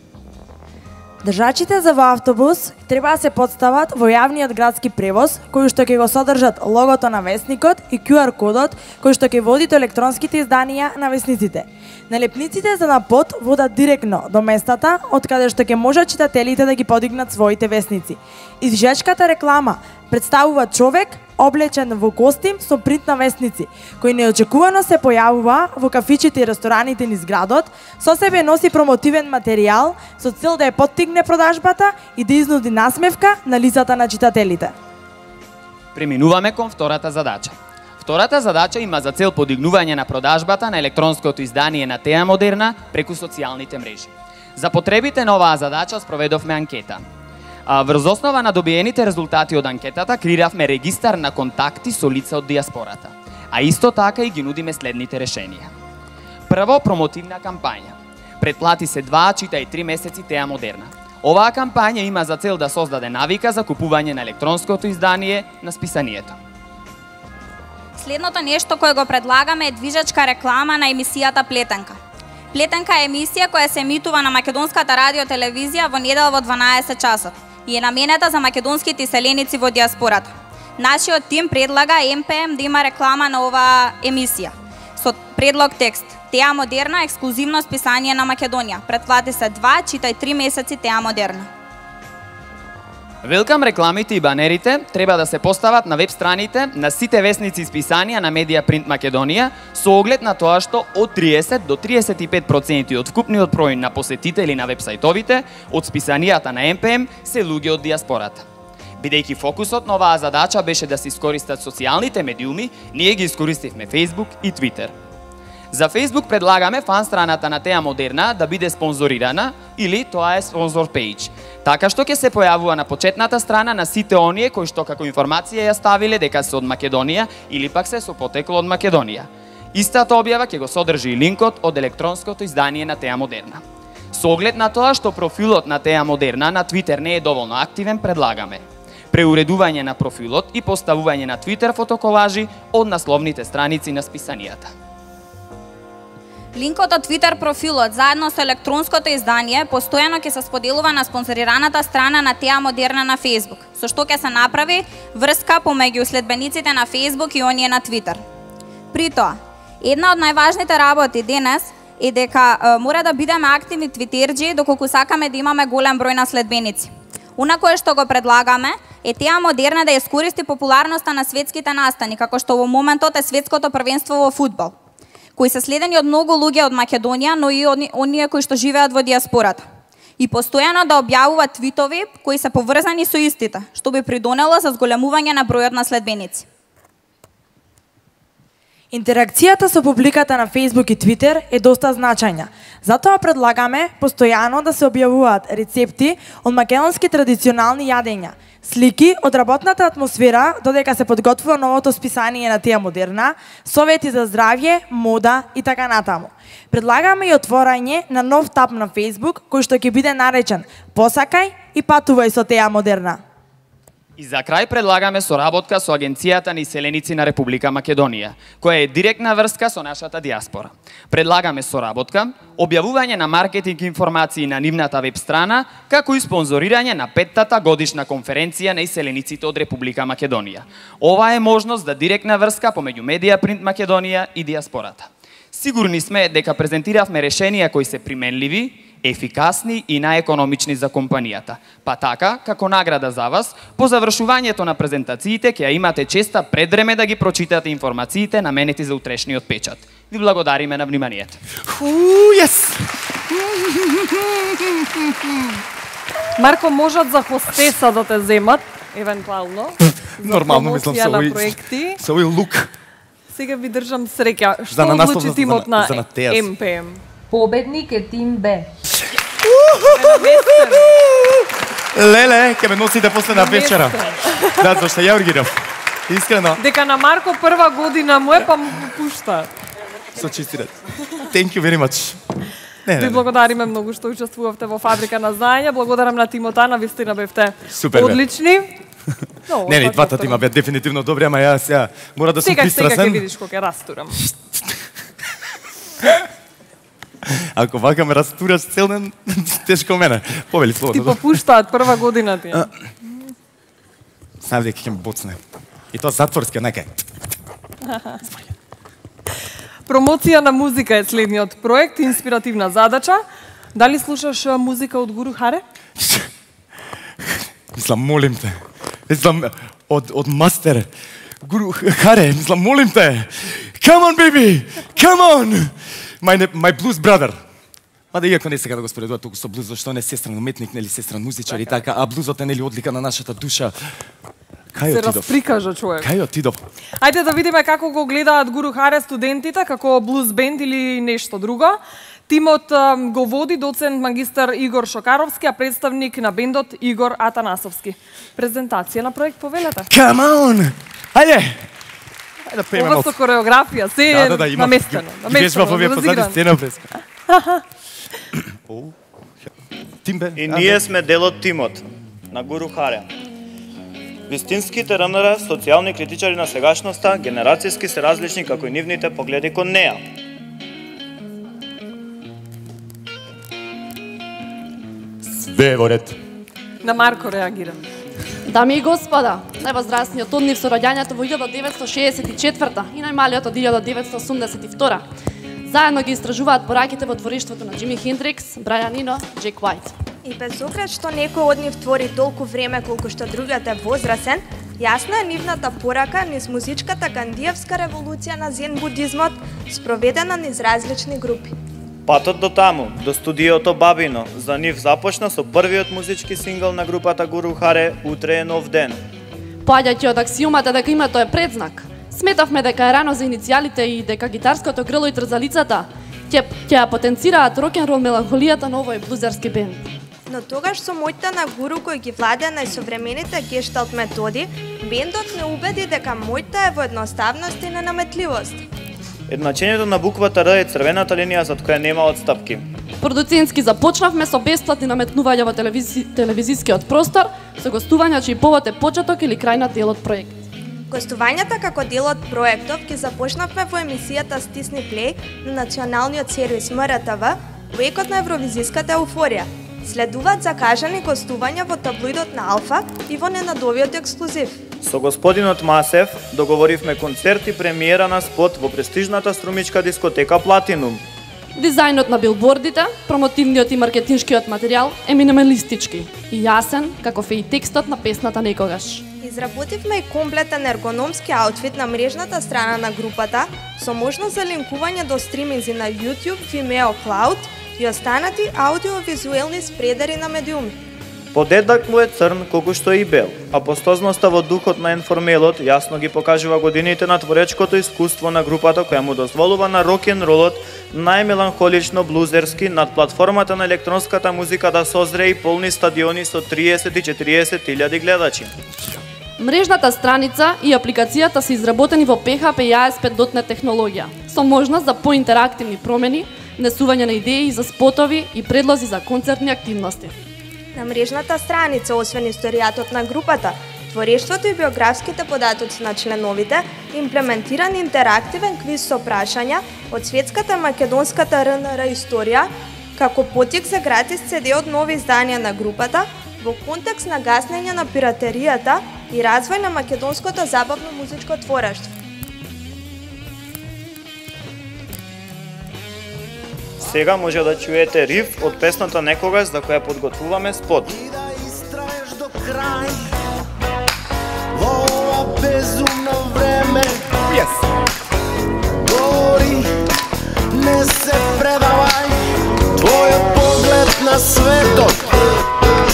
Држачите за во автобус треба да се подстават во јавниот градски превоз, кој што ќе го содржат логото на весникот и ку ар кодот, кој што ќе води до електронските изданија на весниците. Налепниците за на под водат директно до местата од каде што ќе можат читателите да ги подигнат своите весници. Извежачката реклама представува човек облечен во костим со принт на весници, кој неочекувано се појавува во кафичите и рестораните низ градот, со себе носи промотивен материјал со цел да ја поттигне продажбата и да изнуди насмевка на лицата на читателите. Преминуваме кон втората задача. Втората задача има за цел подигнување на продажбата на електронското издание на Теа Модерна преку социјалните мрежи. За потребите на оваа задача спроведовме анкета. Врз основа на добиените резултати од анкетата креиравме регистар на контакти со лица од диаспората, а исто така и ги нудиме следните решенија. Прво, промотивна кампања. Претплати се два, чита и три месеци Теа Модерна. Оваа кампања има за цел да создаде навика за купување на електронското издание на списанието. Следното нешто кое го предлагаме е движачка реклама на емисијата Плетенка. Плетенка е емисија која се емитува на македонската радио телевизија во недела во дванаесет часот и е наменета за македонските иселеници во диаспората. Нашиот тим предлага Ем Пе Ем да има реклама на оваа емисија со предлог текст: Теа Модерна, ексклузивно списание на Македонија. Претплати се два, читај три месеци Теа Модерна. Велкам рекламите и банерите треба да се постават на веб страните на сите весници и списанија на Медија Принт Македонија со оглед на тоа што од триесет до триесет и пет проценти од вкупниот број на посетители на веб-сајтовите од списанијата на Ем Пе Ем се луѓе од диаспората. Бидејќи фокусот на оваа задача беше да се искористат социјалните медиуми, ние ги искористивме Facebook и Twitter. За Facebook предлагаме фан страната на Теа Модерна да биде спонзорирана или тоа е спонзор пејдж, така што ќе се појавува на почетната страна на сите оние кои што како информација ја ставиле дека се од Македонија или пак се со потекло од Македонија. Истата објава ќе го содржи и линкот од електронското издание на Теа Модерна. Со оглед на тоа што профилот на Теа Модерна на Twitter не е доволно активен, предлагаме преуредување на профилот и поставување на Twitter фотоколажи од насловните страници на списанијата. Линкот од Twitter профилот заедно со електронското издание постојано ќе се споделува на спонзорираната страна на Теа Модерна на Facebook, со што ќе се направи врска помеѓу следбениците на Facebook и оние на Twitter. При тоа, една од најважните работи денес е дека е, мора да бидеме активни твитерџи доколку сакаме да имаме голем број на следбеници. Она кое што го предлагаме е Теа Модерна да искористи популарноста на светските настани, како што во моментот е светското првенство во фудбал, кои се следени од многу луѓе од Македонија, но и од оние кои што живеат во диаспората. И постојано да објавуваат твитови кои се поврзани со истите, што би придонело за зголемување на бројот на следбеници. Интеракцијата со публиката на Facebook и Twitter е доста значајна. Затоа предлагаме постојано да се објавуваат рецепти од македонски традиционални јадења, слики од работната атмосфера додека се подготвува новото списание на Теа Модерна, совети за здравје, мода и така натаму. Предлагаме и отворање на нов таб на Facebook кој што ќе биде наречен "Посакај и патувај со Теа Модерна". И за крај предлагаме соработка со Агенцијата на иселеници на Република Македонија, која е директна врска со нашата диаспора. Предлагаме соработка, објавување на маркетинг информации на нивната веб страна, како и спонзорирање на петтата годишна конференција на иселениците од Република Македонија. Ова е можност за директна врска помеѓу Медија Принт Македонија и диаспората. Сигурни сме дека презентиравме решенија кои се применливи, ефикасни и најекономични за компанијата. Па така, како награда за вас, по завршувањето на презентациите ќе ја имате честа пред време да ги прочитате информациите наменети за утрешниот печат. Ви благодариме на вниманието. Уу, yes! Марко, можат за хостеса да те земат, евентуално. Нормално, мислам, со овој проекти. со овој лук. Сега ви држам среќа. За Што на наслов одлучи за- тимот за- на за на Теас. Ем Пе Ем? Победник е тим Б. Леле, ќе ме носите после на вечера. Да, зашто ја ургирав. Искрено. Дека на Марко прва година му е, па му пушта. Со чисти ред. Thank you very much. Не, не, Ви не. благодариме многу што учествувавте во Фабрика на знаење. Благодарам на тимот, на вистина бевте Супер, бе. одлични. Но, Не, не, така двата што- тима беа дефинитивно добри, ама ја сега мора да сум Сега, сега ќе пристрасен. видиш кога ќе растурам. Ако вака ме растураш цел ден, тешко мене. Повели слободно. Ти попуштаат прва година ти. Знам дека ќе ме боцне. И тоа затворски, нека. Промоција на музика е следниот проект, инспиративна задача. Дали слушаш музика од Гуру Харе? Мислам, молим те. Мислам, од, од мастер. Гуру Харе, мислам, молим те. Come on, baby! Come on! My, my blues brother. Мада иако не сега да го споредува толку со блуз, зашто не сестран уметник, нели сестран музичар и така, а блузот е нели одлика на нашата душа. Кај се отидов? расприкажа човек. Кај отидов? Ајде да видиме како го гледаат Гуру Харе студентите, како блуз бенд или нешто друго. Тимот um, го води доцент магистар Игор Шокаровски, а представник на бендот Игор Атанасовски. Презентација на проект, повелете. Come on! Ајде! Ајде да пееме Ова малку. со кореографија, се Да, да, да, има. наместено. Ги вежбав овие позади сцена преска. Тимбе. И ние сме дел од тимот на Гуру Харе. Вистинските РНР, социјални критичари на сегашноста, генерацијски се различни како и нивните погледи кон неа. Све во ред. На Марко реагира. Дами и господа, највозрастниот од нив со роѓањето во илјадот деветстотини шеесет и четврта и најмалиот од илјадот деветстотини осумдесет и втора. Заедно ги истражуваат пораките во творештвото на Џими Хендрикс, Брайан Ино, Джек Уајт. И без оглед што некој од нив твори толку време колку што другиот е возрасен, јасна е нивната порака низ музичката гандиевска револуција на зен будизмот, спроведена низ различни групи. Патот до таму, до студиото Бабино, за нив започна со првиот музички сингл на групата Гуру Харе "Утре е нов ден". Поаѓајќи од аксиомата дека името е предзнак, сметавме дека е рано за иницијалите и дека гитарското грло и трзалицата ќе ќе ја потенцираат рок-н-рол меланхолијата на овој блузерски бенд. Но тогаш со моќта на Гуру кој ги владеа најсовремените гешталт методи, бендот не убеди дека моќта е во едноставност и ненаметливост. Едначењето на буквата Р е црвената линија зад која нема отстапки. Продуцентски започнавме со бесплатни наметнувања во телевизи... телевизискиот простор, со гостувања чиј повод е почеток или крај на делот проект. Гостувањата како дел од проектов ги започнавме во емисијата Стисни плей на националниот сервис М Р Т В во екот на евровизиската еуфорија. Следуваат закажани гостувања во таблоидот на Алфа и во ненадовиот ексклузив. Со господинот Масев договоривме концерт и премиера на спот во престижната струмичка дискотека Платинум. Дизајнот на билбордите, промотивниот и маркетиншкиот материјал е минималистички и јасен, каков е и текстот на песната Некогаш. Изработивме и комплетен ергономски аутфит на мрежната страна на групата со можност за линкување до стриминзи на YouTube, Vimeo Cloud и останати аудиовизуелни спредери на медиуми. Подедак му е црн колку што и бел, а постозноста во духот на енформелот јасно ги покажува годините на творечкото искуство на групата која му дозволува на рок-н-ролот најмеланхолично блузерски над платформата на електронската музика да созре и полни стадиони со триесет и четириесет илјади гледачи. Мрежната страница и апликацијата се изработени во П Х П и А S P точка нет технологија, со можност за поинтерактивни промени, внесување на идеи за спотови и предлози за концертни активности. На мрежната страница, освен историјатот на групата, творештвото и биографските податоци на членовите, имплементиран интерактивен квиз со прашања од светската македонската Р Н Р историја, како потик за гратис Ц Д од нови изданија на групата, во контекст на гаснење на пиратеријата и развој на македонското забавно музичко творештво. Сега може да чуете риф од песната Некогаш за која подготвуваме спот. Во ова безумно време yes. Говори, не се предавај, твојот поглед на светот.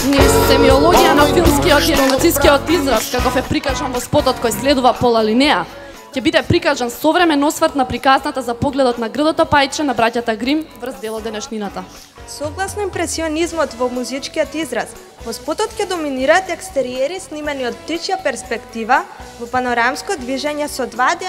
Низ семиологија на филмскиот и анимацијскиот израз, каков е прикажан во спотот кој следува пола линеја, ќе биде прикажан современ осврт на приказната за погледот на грдото пајче на браќата Грим врз делот денешнината. Согласно импресионизмот во музичкиот израз, во спотот ќе доминираат екстериери снимани од птичја перспектива во панорамско движење со два д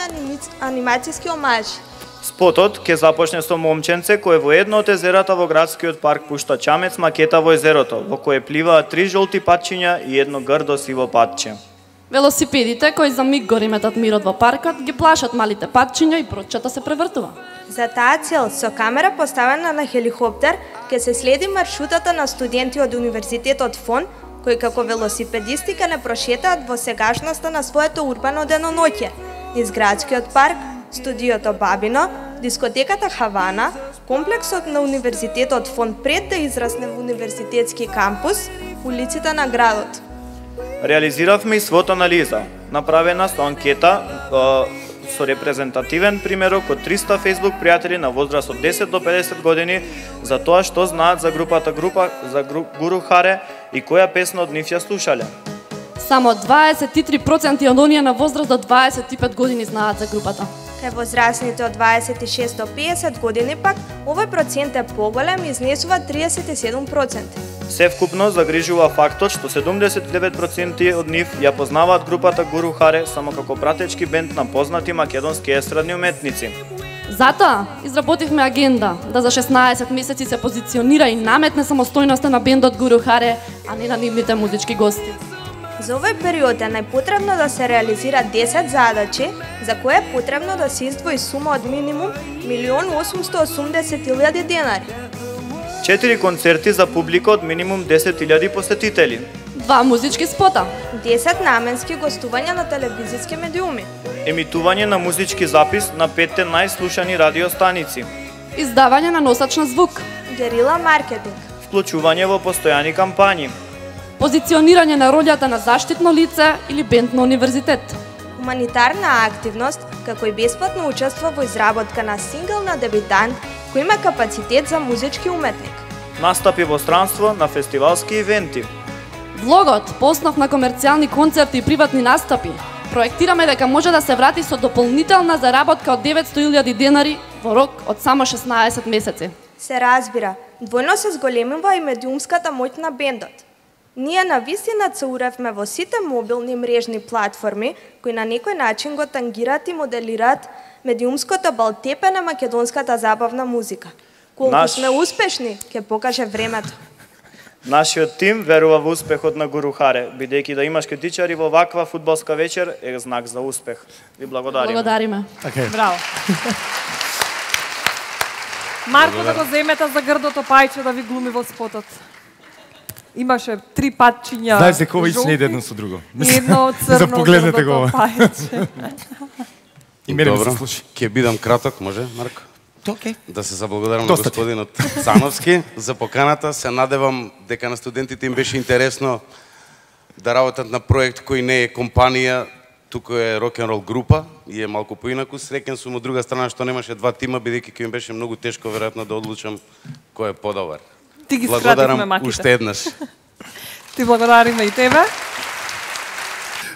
анимацијски омажи. Спотот ќе започне со момченце кое во едно од езерата во градскиот парк пушта чамец макета во езерото, во кое пливаат три жолти патчиња и едно грдо сиво патче. Велосипедите кои за миг го реметат мирот во паркот ги плашат малите патчиња и проччето се превртува. За таа цел, со камера поставена на хеликоптер, ќе се следи маршрутата на студенти од Универзитетот Фон, кои како велосипедисти ќе не прошетаат во сегашноста на своето урбано деноноќе, низ градскиот парк, студиото Бабино, дискотеката Хавана, комплексот на Универзитетот Фон пред да израсне во универзитетски кампус, улиците на градот. Реализиравме и свод анализа, направена со анкета со репрезентативен примерок од триста Facebook пријатели на возраст од десет до педесет години за тоа што знаат за групата група за груп, Гуру Харе и која песна од нив ја слушале. Само дваесет и три проценти од оние на возраст до дваесет и пет години знаат за групата. Кај возрастните од дваесет и шест до педесет години пак, овој процент е поголем и изнесува триесет и седум проценти. Севкупно загрижува фактот што седумдесет и девет проценти од нив ја познаваат групата Гуру Харе само како пратечки бенд на познати македонски естрадни уметници. Затоа изработивме агенда да за шеснаесет месеци се позиционира и наметне самостојноста на бендот Гуру Харе, а не на нивните музички гости. За овој период е најпотребно да се реализира десет задачи, за кои е потребно да се издвои сума од минимум милион осумсто осумдесет илјади денари. Четири концерти за публика од минимум десет илјади посетители. Два музички спота. десет наменски гостувања на телевизиски медиуми. Емитување на музички запис на петте најслушани радиостаници. Издавање на носач на звук. Герила маркетинг. Вклучување во постојани кампањи. Позиционирање на ролјата на заштитно лице или бенд на универзитет. Хуманитарна активност, како и бесплатно учество во изработка на сингл на дебитант кој има капацитет за музички уметник. Настапи во странство на фестивалски ивенти. Влогот по основ на комерцијални концерти и приватни настапи проектираме дека може да се врати со дополнителна заработка од деветсто илјади денари во рок од само шеснаесет месеци. Се разбира, двојно се зголемува и медиумската моќ на бендот. Ние на вистина цуревме во сите мобилни мрежни платформи кои на некој начин го тангираат и моделираат медиумското балтепе на македонската забавна музика. Колку Наш... сме успешни, ќе покаже времето. Нашиот тим верува во успехот на Гуру Харе, бидејќи да имаш критичари во ваква фудбалска вечер е знак за успех. Ви благодариме. Благодариме. Okay. Браво. Марко да го земете за грдото пајче да ви глуми во спотот. Имаше три патчиња. Знаеш дека ова и не едно со друго. И едно црно за погледнете го. Пајче. И мене ми Добро, се слуши. ќе бидам краток, може, Марко? Okay. Да се заблагодарам на господинот Цановски за поканата. Се надевам дека на студентите им беше интересно да работат на проект кој не е компанија, туку е рок-н-рол група и е малку поинаку. Среќен сум од друга страна што немаше два тима, бидејќи ќе им беше многу тешко веројатно да одлучам кој е подобар. Ти ги благодарам маките. уште еднаш. Ти благодариме и тебе.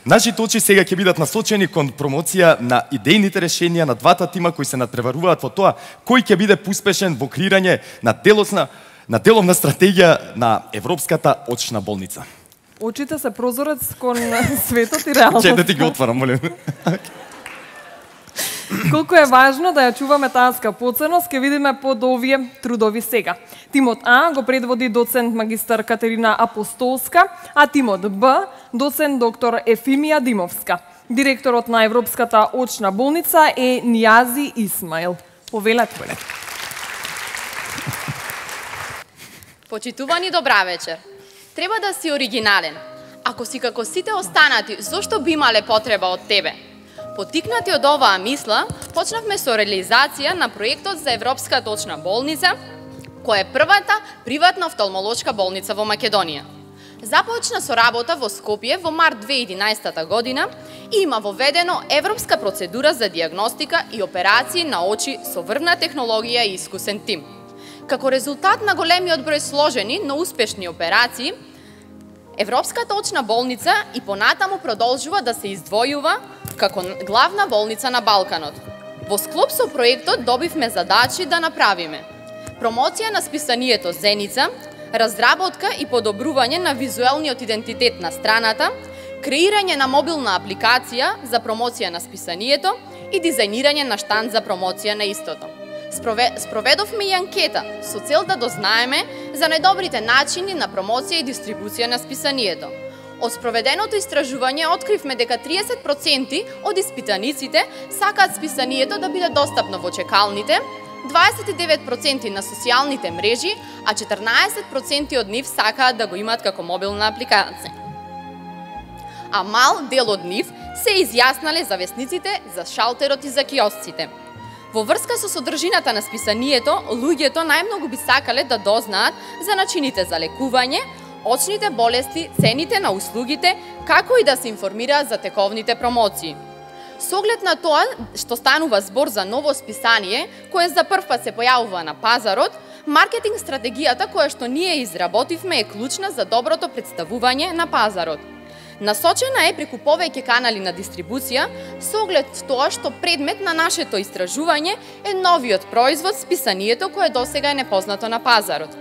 Нашите очи сега ќе бидат насочени кон промоција на идејните решенија на двата тима кои се надпреваруваат во тоа кој ќе биде успешен во креирање на делосна на деловна стратегија на Европската очна болница. Очите се прозорец кон светот и реалноста. Че да ти ги отварам, молим. Колку е важно да ја чуваме таа скапоценост, ќе видиме под овие трудови сега. Тимот А го предводи доцент магистар Катерина Апостолска, а тимот Б доцент доктор Ефимија Димовска. Директорот на Европската очна болница е Нијази Исмаил. Повелете. Почитувани, добра вечер. Треба да си оригинален. Ако си како сите останати, зошто би имале потреба од тебе? Потикнати од оваа мисла, почнавме со реализација на проектот за Европската очна болница, која е првата приватна офталмолошка болница во Македонија. Започна со работа во Скопје во март две илјади и единаесета година и има воведено европска процедура за диагностика и операции на очи со врвна технологија и искусен тим. Како резултат на големиот број сложени, но успешни операции, Европската очна болница и понатаму продолжува да се издвојува како главна болница на Балканот. Во склоп со проектот добивме задачи да направиме промоција на списанието Зеница, разработка и подобрување на визуелниот идентитет на страната, креирање на мобилна апликација за промоција на списанието и дизајнирање на штанд за промоција на истото. Спроведовме и анкета со цел да дознаеме за најдобрите начини на промоција и дистрибуција на списанието. Од спроведеното истражување откривме дека триесет проценти од испитаниците сакаат списанието да биде достапно во чекалните, дваесет и девет проценти на социјалните мрежи, а четрнаесет проценти од нив сакаат да го имаат како мобилна апликација. А мал дел од нив се изјаснале за весниците, за шалтерот и за киосците. Во врска со содржината на списанието, луѓето најмногу би сакале да дознаат за начините за лекување, очните болести, цените на услугите, како и да се информираат за тековните промоции. Со оглед на тоа што станува збор за ново списание, кое за прв пат се појавува на пазарот, маркетинг стратегијата која што ние изработивме е клучна за доброто представување на пазарот. Насочена е преку повеќе канали на дистрибуција, со оглед тоа што предмет на нашето истражување е новиот производ, списанието кое досега е непознато на пазарот.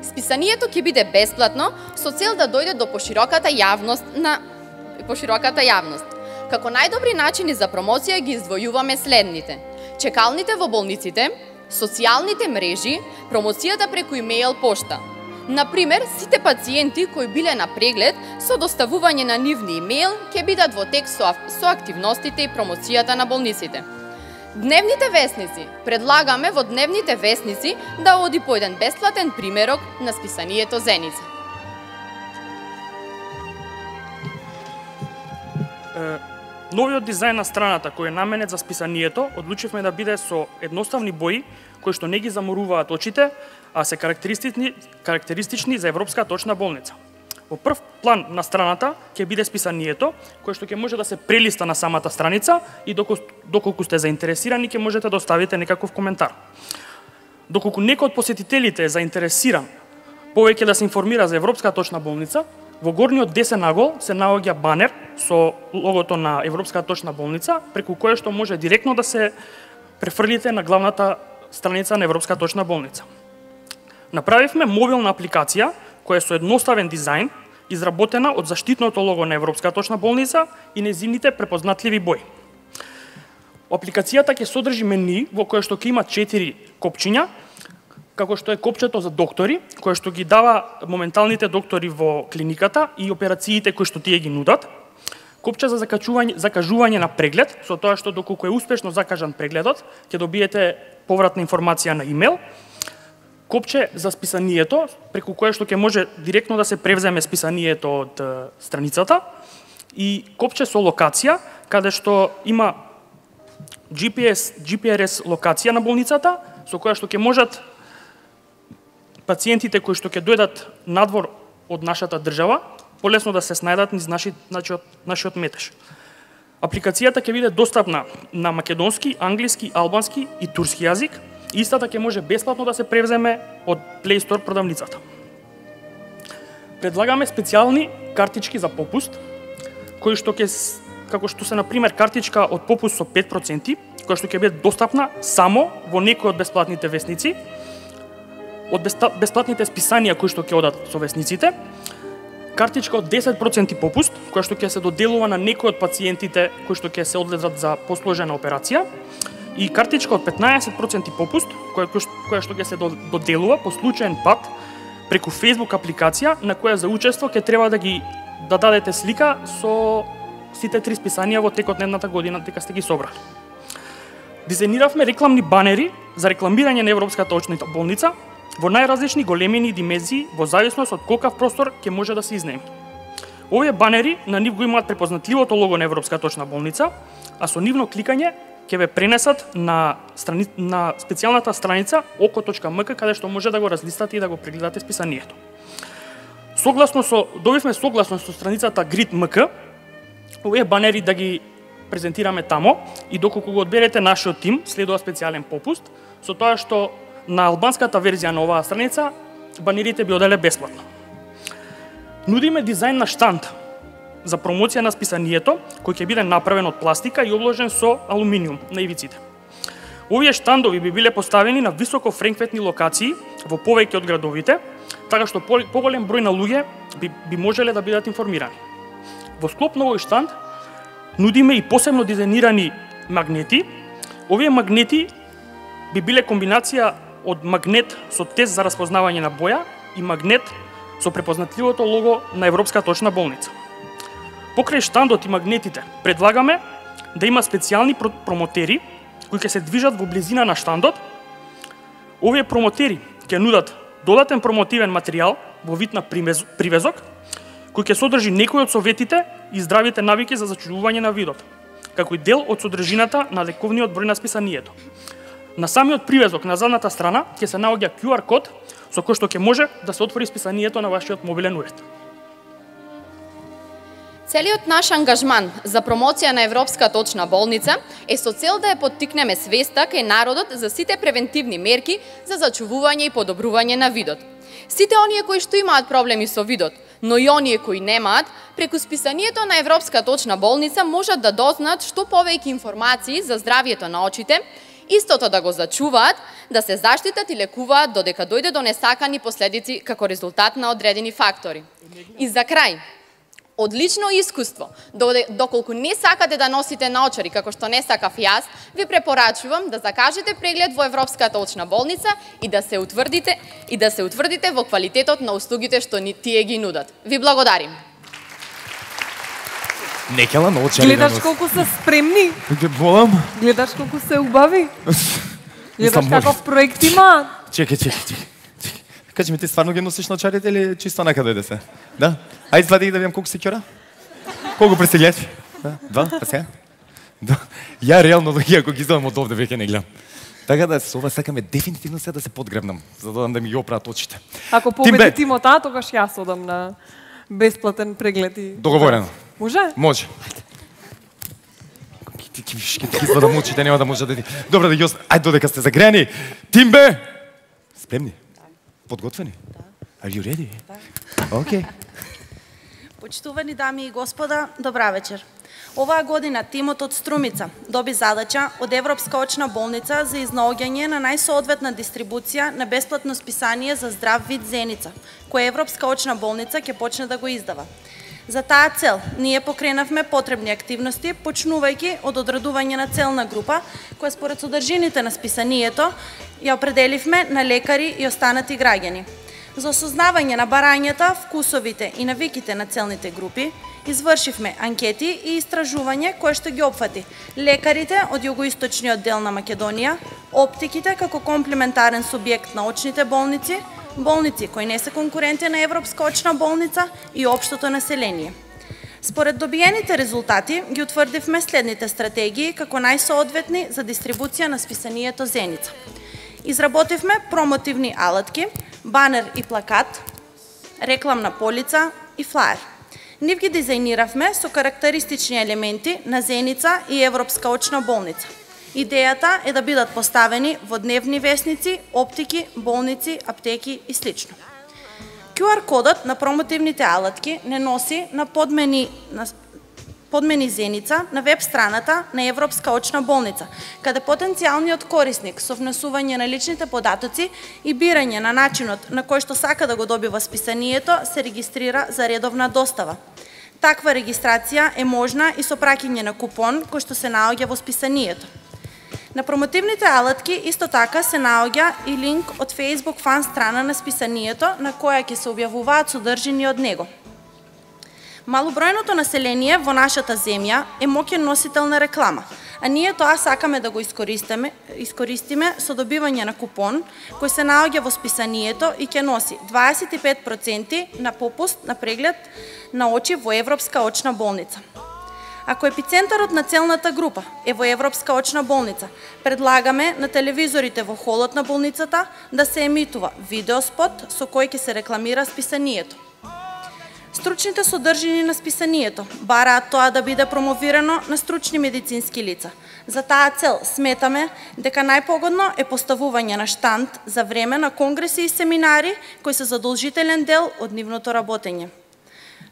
Списанието ќе биде бесплатно со цел да дојде до пошироката јавност на пошироката јавност. Како најдобри начини за промоција ги издвојуваме следните: чекалните во болниците, социјалните мрежи, промоцијата преку имејл пошта. Например, сите пациенти кои биле на преглед со доставување на нивни имејл ќе бидат во тек со, со активностите и промоцијата на болниците. Дневните весници. Предлагаме во дневните весници да оди по еден бесплатен примерок на списанието Зеница. Новиот дизајн на страната кој е наменет за списанието, одлучивме да биде со едноставни бои кои што не ги заморуваат очите, а се карактеристични, карактеристични за Европска точна болница. Во прв план на страната ќе биде списанието, кое што ќе може да се прелиста на самата страница и доколку, доколку сте заинтересирани ќе можете да оставите некаков коментар. Доколку некој од посетителите е заинтересиран повеќе да се информира за Европска точна болница, во горниот десен агол се наоѓа банер со логото на Европска точна болница, преку кое што може директно да се префрлите на главната страница на Европска точна болница. Направивме мобилна апликација која е со едноставен дизајн, изработена од заштитното лого на Европска точна болница и нејзините препознатливи бои. Апликацијата ќе содржи мени во кое што ќе има четири копчиња, како што е копчето за доктори, кое што ги дава моменталните доктори во клиниката и операциите кои што тие ги нудат. Копче за закачување, закажување на преглед, со тоа што доколку е успешно закажан прегледот, ќе добиете повратна информација на имејл. Копче за списанието, преку кое што ќе може директно да се превземе списанието од страницата, и копче со локација, каде што има Джи Пи Ес, Джи Пи Ар Ес локација на болницата, со која што ќе можат пациентите кои што ќе дојдат надвор од нашата држава полесно да се снајдат низ наши, нашиот, нашиот метеж. Апликацијата ќе биде достапна на македонски, англиски, албански и турски јазик. Истата ќе може бесплатно да се превземе од Play Store продавницата. Предлагаме специјални картички за попуст, кои што ќе, како што се на пример картичка од попуст со пет проценти, која што ќе биде достапна само во некои од бесплатните весници, од бесплатните списанија кои што ќе одат со весниците, картичка од десет проценти попуст, која што ќе се доделува на некои од пациентите кои што ќе се одлежат за посложена операција, и картичка од петнаесет проценти попуст, која, која што ќе се доделува по случаен пат преку Facebook апликација, на која за учество ќе треба да ги да дадете слика со сите три списанија во текот на едната година дека сте ги собрали. Дизајниравме рекламни банери за рекламирање на Европска точна болница во најразлични големини и димензии во зависност од колкав простор ќе може да се изнеми. Овие банери на нив го имаат препознатливото лого на Европска точна болница, а со нивно кликање ќе ве пренесат на, страни... на специјалната страница око точка ем ка, каде што може да го разлистате и да го прегледате списанието. Согласно со, добивме согласност со страницата Грид точка ем ка, овие банери да ги презентираме тамо и доколку го одберете нашиот тим, следува специјален попуст, со тоа што на албанската верзија на оваа страница банерите би оделе бесплатно. Нудиме дизајн на штанд за промоција на списанието, кој ќе биде направен од пластика и обложен со алуминиум на ивиците. Овие штандови би биле поставени на високо фреквентни локации во повеќе од градовите, така што поголем број на луѓе би, би можеле да бидат информирани. Во склоп на овој штанд нудиме и посебно дизајнирани магнети. Овие магнети би биле комбинација од магнет со тест за распознавање на боја и магнет со препознатливото лого на Европската очна болница. Покрај штандот и магнетите, предлагаме да има специјални промотери кои ќе се движат во близина на штандот. Овие промотери ќе нудат додатен промотивен материјал во вид на привезок, кој ќе содржи некои од советите и здравите навики за зачувување на видот, како и дел од содржината на лековниот број на списанието. На самиот привезок на задната страна ќе се наоѓа ку ар код со кој што ќе може да се отвори списанието на вашиот мобилен уред. Целиот наш ангажман за промоција на Европската очна болница е со цел да ја поттикнеме свеста кај народот за сите превентивни мерки за зачувување и подобрување на видот. Сите оние кои што имаат проблеми со видот, но и оние кои немаат, преку списанието на Европската очна болница можат да дознаат што повеќе информации за здравието на очите, истото да го зачуваат, да се заштитат и лекуваат додека дојде до несакани последици како резултат на одредени фактори. И за крај, од лично искуство, доколку не сакате да носите наочари, како што не сакав јас, ви препорачувам да закажете преглед во Европската очна болница и да се утврдите и да се утврдите во квалитетот на услугите што ни тие ги нудат. Ви благодарим. Некела наочари. Гледаш колку се спремни. Болам. Гледаш колку се убави. Гледаш каков проект има. Чекај, чекај, чекај. Кажи ми, ти стварно ги носиш наочарите или чисто нека дојде се? Да? Ајде извади да видам колку се ќора. Колку пресилјаш? Да? Два? Па сега? Да. Ја реално да ако ги излезам од овде веќе не гледам. Така да со ова сакаме дефинитивно се да се подгребнам, за да да ми ги опраат очите. Ако победи тимото, тогаш јас одам на бесплатен преглед и договорено. Може? Може. Ти ти виш ке ти извадам очите, нема да може да ти. Добро да јас, ајде додека сте загреани. Тимбе! Спремни? Подготвени? Are you ready? Да. Окей. Почитувани дами и господа, добра вечер. Оваа година тимот од Струмица доби задача од Европска очна болница за изнаоѓање на најсоодветна дистрибуција на бесплатно списание за здрав вид зеница, која Европска очна болница ќе почне да го издава. За таа цел, ние покренавме потребни активности, почнувајќи од одредување на целна група, која според содржините на списанието ја определивме на лекари и останати граѓани. За осознавање на барањата, вкусовите и навиките на целните групи, извршивме анкети и истражување кое што ги опфати лекарите од југоисточниот дел на Македонија, оптиките како комплементарен субјект на очните болници, болници кои не се конкуренти на Европска очна болница и општото население. Според добиените резултати ги утврдивме следните стратегии како најсоодветни за дистрибуција на списанието Зеница. Изработивме промотивни алатки, банер и плакат, рекламна полица и флаер. Нив ги дизајниравме со карактеристични елементи на Зеница и Европска очна болница. Идејата е да бидат поставени во дневни весници, оптики, болници, аптеки и слично. ку ар кодот на промотивните алатки не носи на подмени на подмени Зеница на веб страната на Европска очна болница, каде потенцијалниот корисник со внесување на личните податоци и бирање на начинот на кој што сака да го добива списанието се регистрира за редовна достава. Таква регистрација е можна и со праќање на купон кој што се наоѓа во списанието. На промотивните алатки исто така се наоѓа и линк од Facebook фан страна на списанието на која ќе се објавуваат содржини од него. Малобројното население во нашата земја е моќен носител на реклама, а ние тоа сакаме да го искористиме, искористиме со добивање на купон кој се наоѓа во списанието и ќе носи дваесет и пет проценти на попуст на преглед на очи во Европска очна болница. Ако епицентарот на целната група е во Европска очна болница, предлагаме на телевизорите во холот на болницата да се емитува видеоспот со кој ќе се рекламира списанието. Стручните содржини на списанието бараат тоа да биде промовирано на стручни медицински лица. За таа цел сметаме дека најпогодно е поставување на штанд за време на конгреси и семинари кои се задолжителен дел од нивното работење.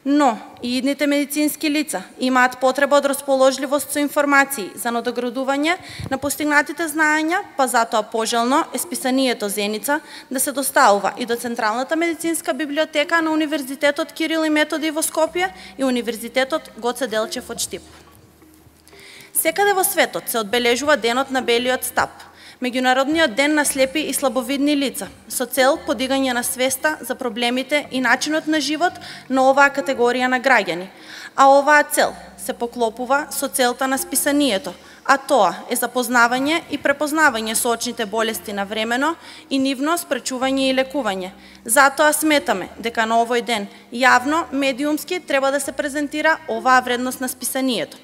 Но и идните медицински лица имаат потреба од расположливост со информации за надоградување на постигнатите знаења, па затоа пожелно е списанието Зеница да се доставува и до Централната медицинска библиотека на Универзитетот Кирил и Методи во Скопје и Универзитетот Гоце Делчев од Штип. Секаде во светот се одбележува денот на белиот стап. Меѓународниот ден на слепи и слабовидни лица, со цел подигање на свеста за проблемите и начинот на живот на оваа категорија на граѓани. А оваа цел се поклопува со целта на списанието, а тоа е запознавање и препознавање со очните болести на времено и нивно спречување и лекување. Затоа сметаме дека на овој ден јавно, медиумски треба да се презентира оваа вредност на списанието.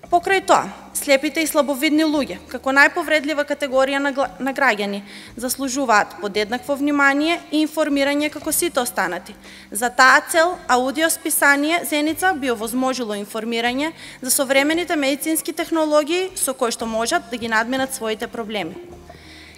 Покрај тоа, слепите и слабовидни луѓе, како најповредлива категорија на, на граѓани, заслужуваат подеднакво внимание и информирање како сите останати. За таа цел, аудиосписание Зеница би овозможило информирање за современите медицински технологии со кои што можат да ги надминат своите проблеми.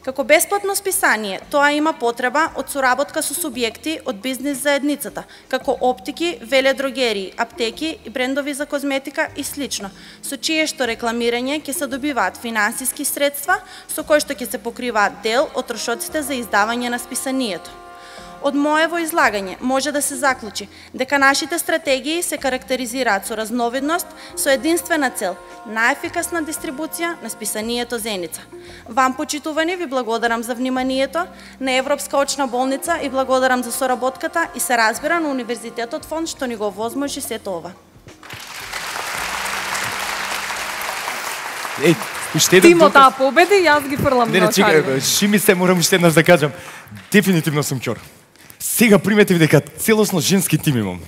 Како бесплатно списание, тоа има потреба од соработка со субјекти од бизнис заедницата, како оптики, веледрогерии, аптеки и брендови за козметика и слично, со чие што рекламирање ќе се добиваат финансиски средства, со кои што ќе се покриваат дел од трошоците за издавање на списанието. Од моево излагање може да се заклучи дека нашите стратегии се карактеризираат со разновидност, со единствена цел – најефикасна дистрибуција на списанието Зеница. Вам, почитувани, ви благодарам за вниманието, на Европска очна болница и благодарам за соработката и се разбира на Универзитетот фонд што ни го возможи сето ова. Еј, уште Тимо таа победи и јас ги фрлам не, на не, чекај, ши ми се морам уште еднаш да кажам. Дефинитивно сум ќор. Сега приметив дека целосно женски тим имам.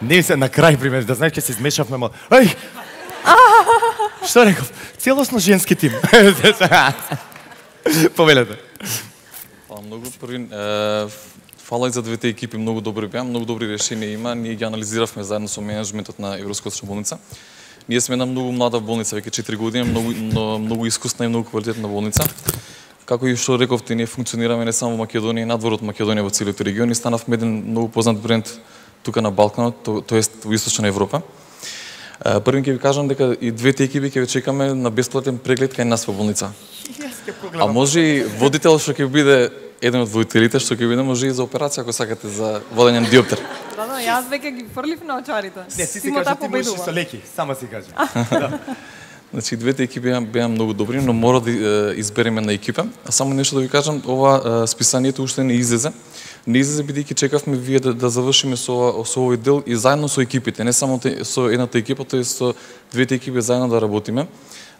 Не се на крај приметив, да знаеш ќе се измешавме, ма... Ај! Што реков? Целосно женски тим. Повелете. Фала многу. Први, е, фала и за двете екипи, многу добри беа, многу добри решенија има. Ние ги анализиравме заедно со менеджментот на Европска очна болница. Ние сме една многу млада болница, веќе четири години, многу, многу искусна и многу квалитетна болница. Како и што рековте, ние функционираме не само во Македонија, надвор од Македонија во целиот регион и станавме еден многу познат бренд тука на Балканот, то, тоест во Источна Европа. Првин ќе ви кажам дека и двете екипи ќе ве чекаме на бесплатен преглед кај нас во болница. А може и водител што ќе биде еден од водителите што ќе биде може и за операција ако сакате за водење на диоптер. Да, да, јас веќе ги фрлив на очарите. Не, си си кажа, ти можеш со леки, сама си кажа. Да. Значи, двете екипи беа многу добри, но мора да избереме на екипа. А само нешто да ви кажам, ова списанието уште не излезе. Не излезе бидејќи чекавме вие да, да завршиме со, со овој дел и заедно со екипите, не само те, со едната екипа, тоест со двете екипи заедно да работиме.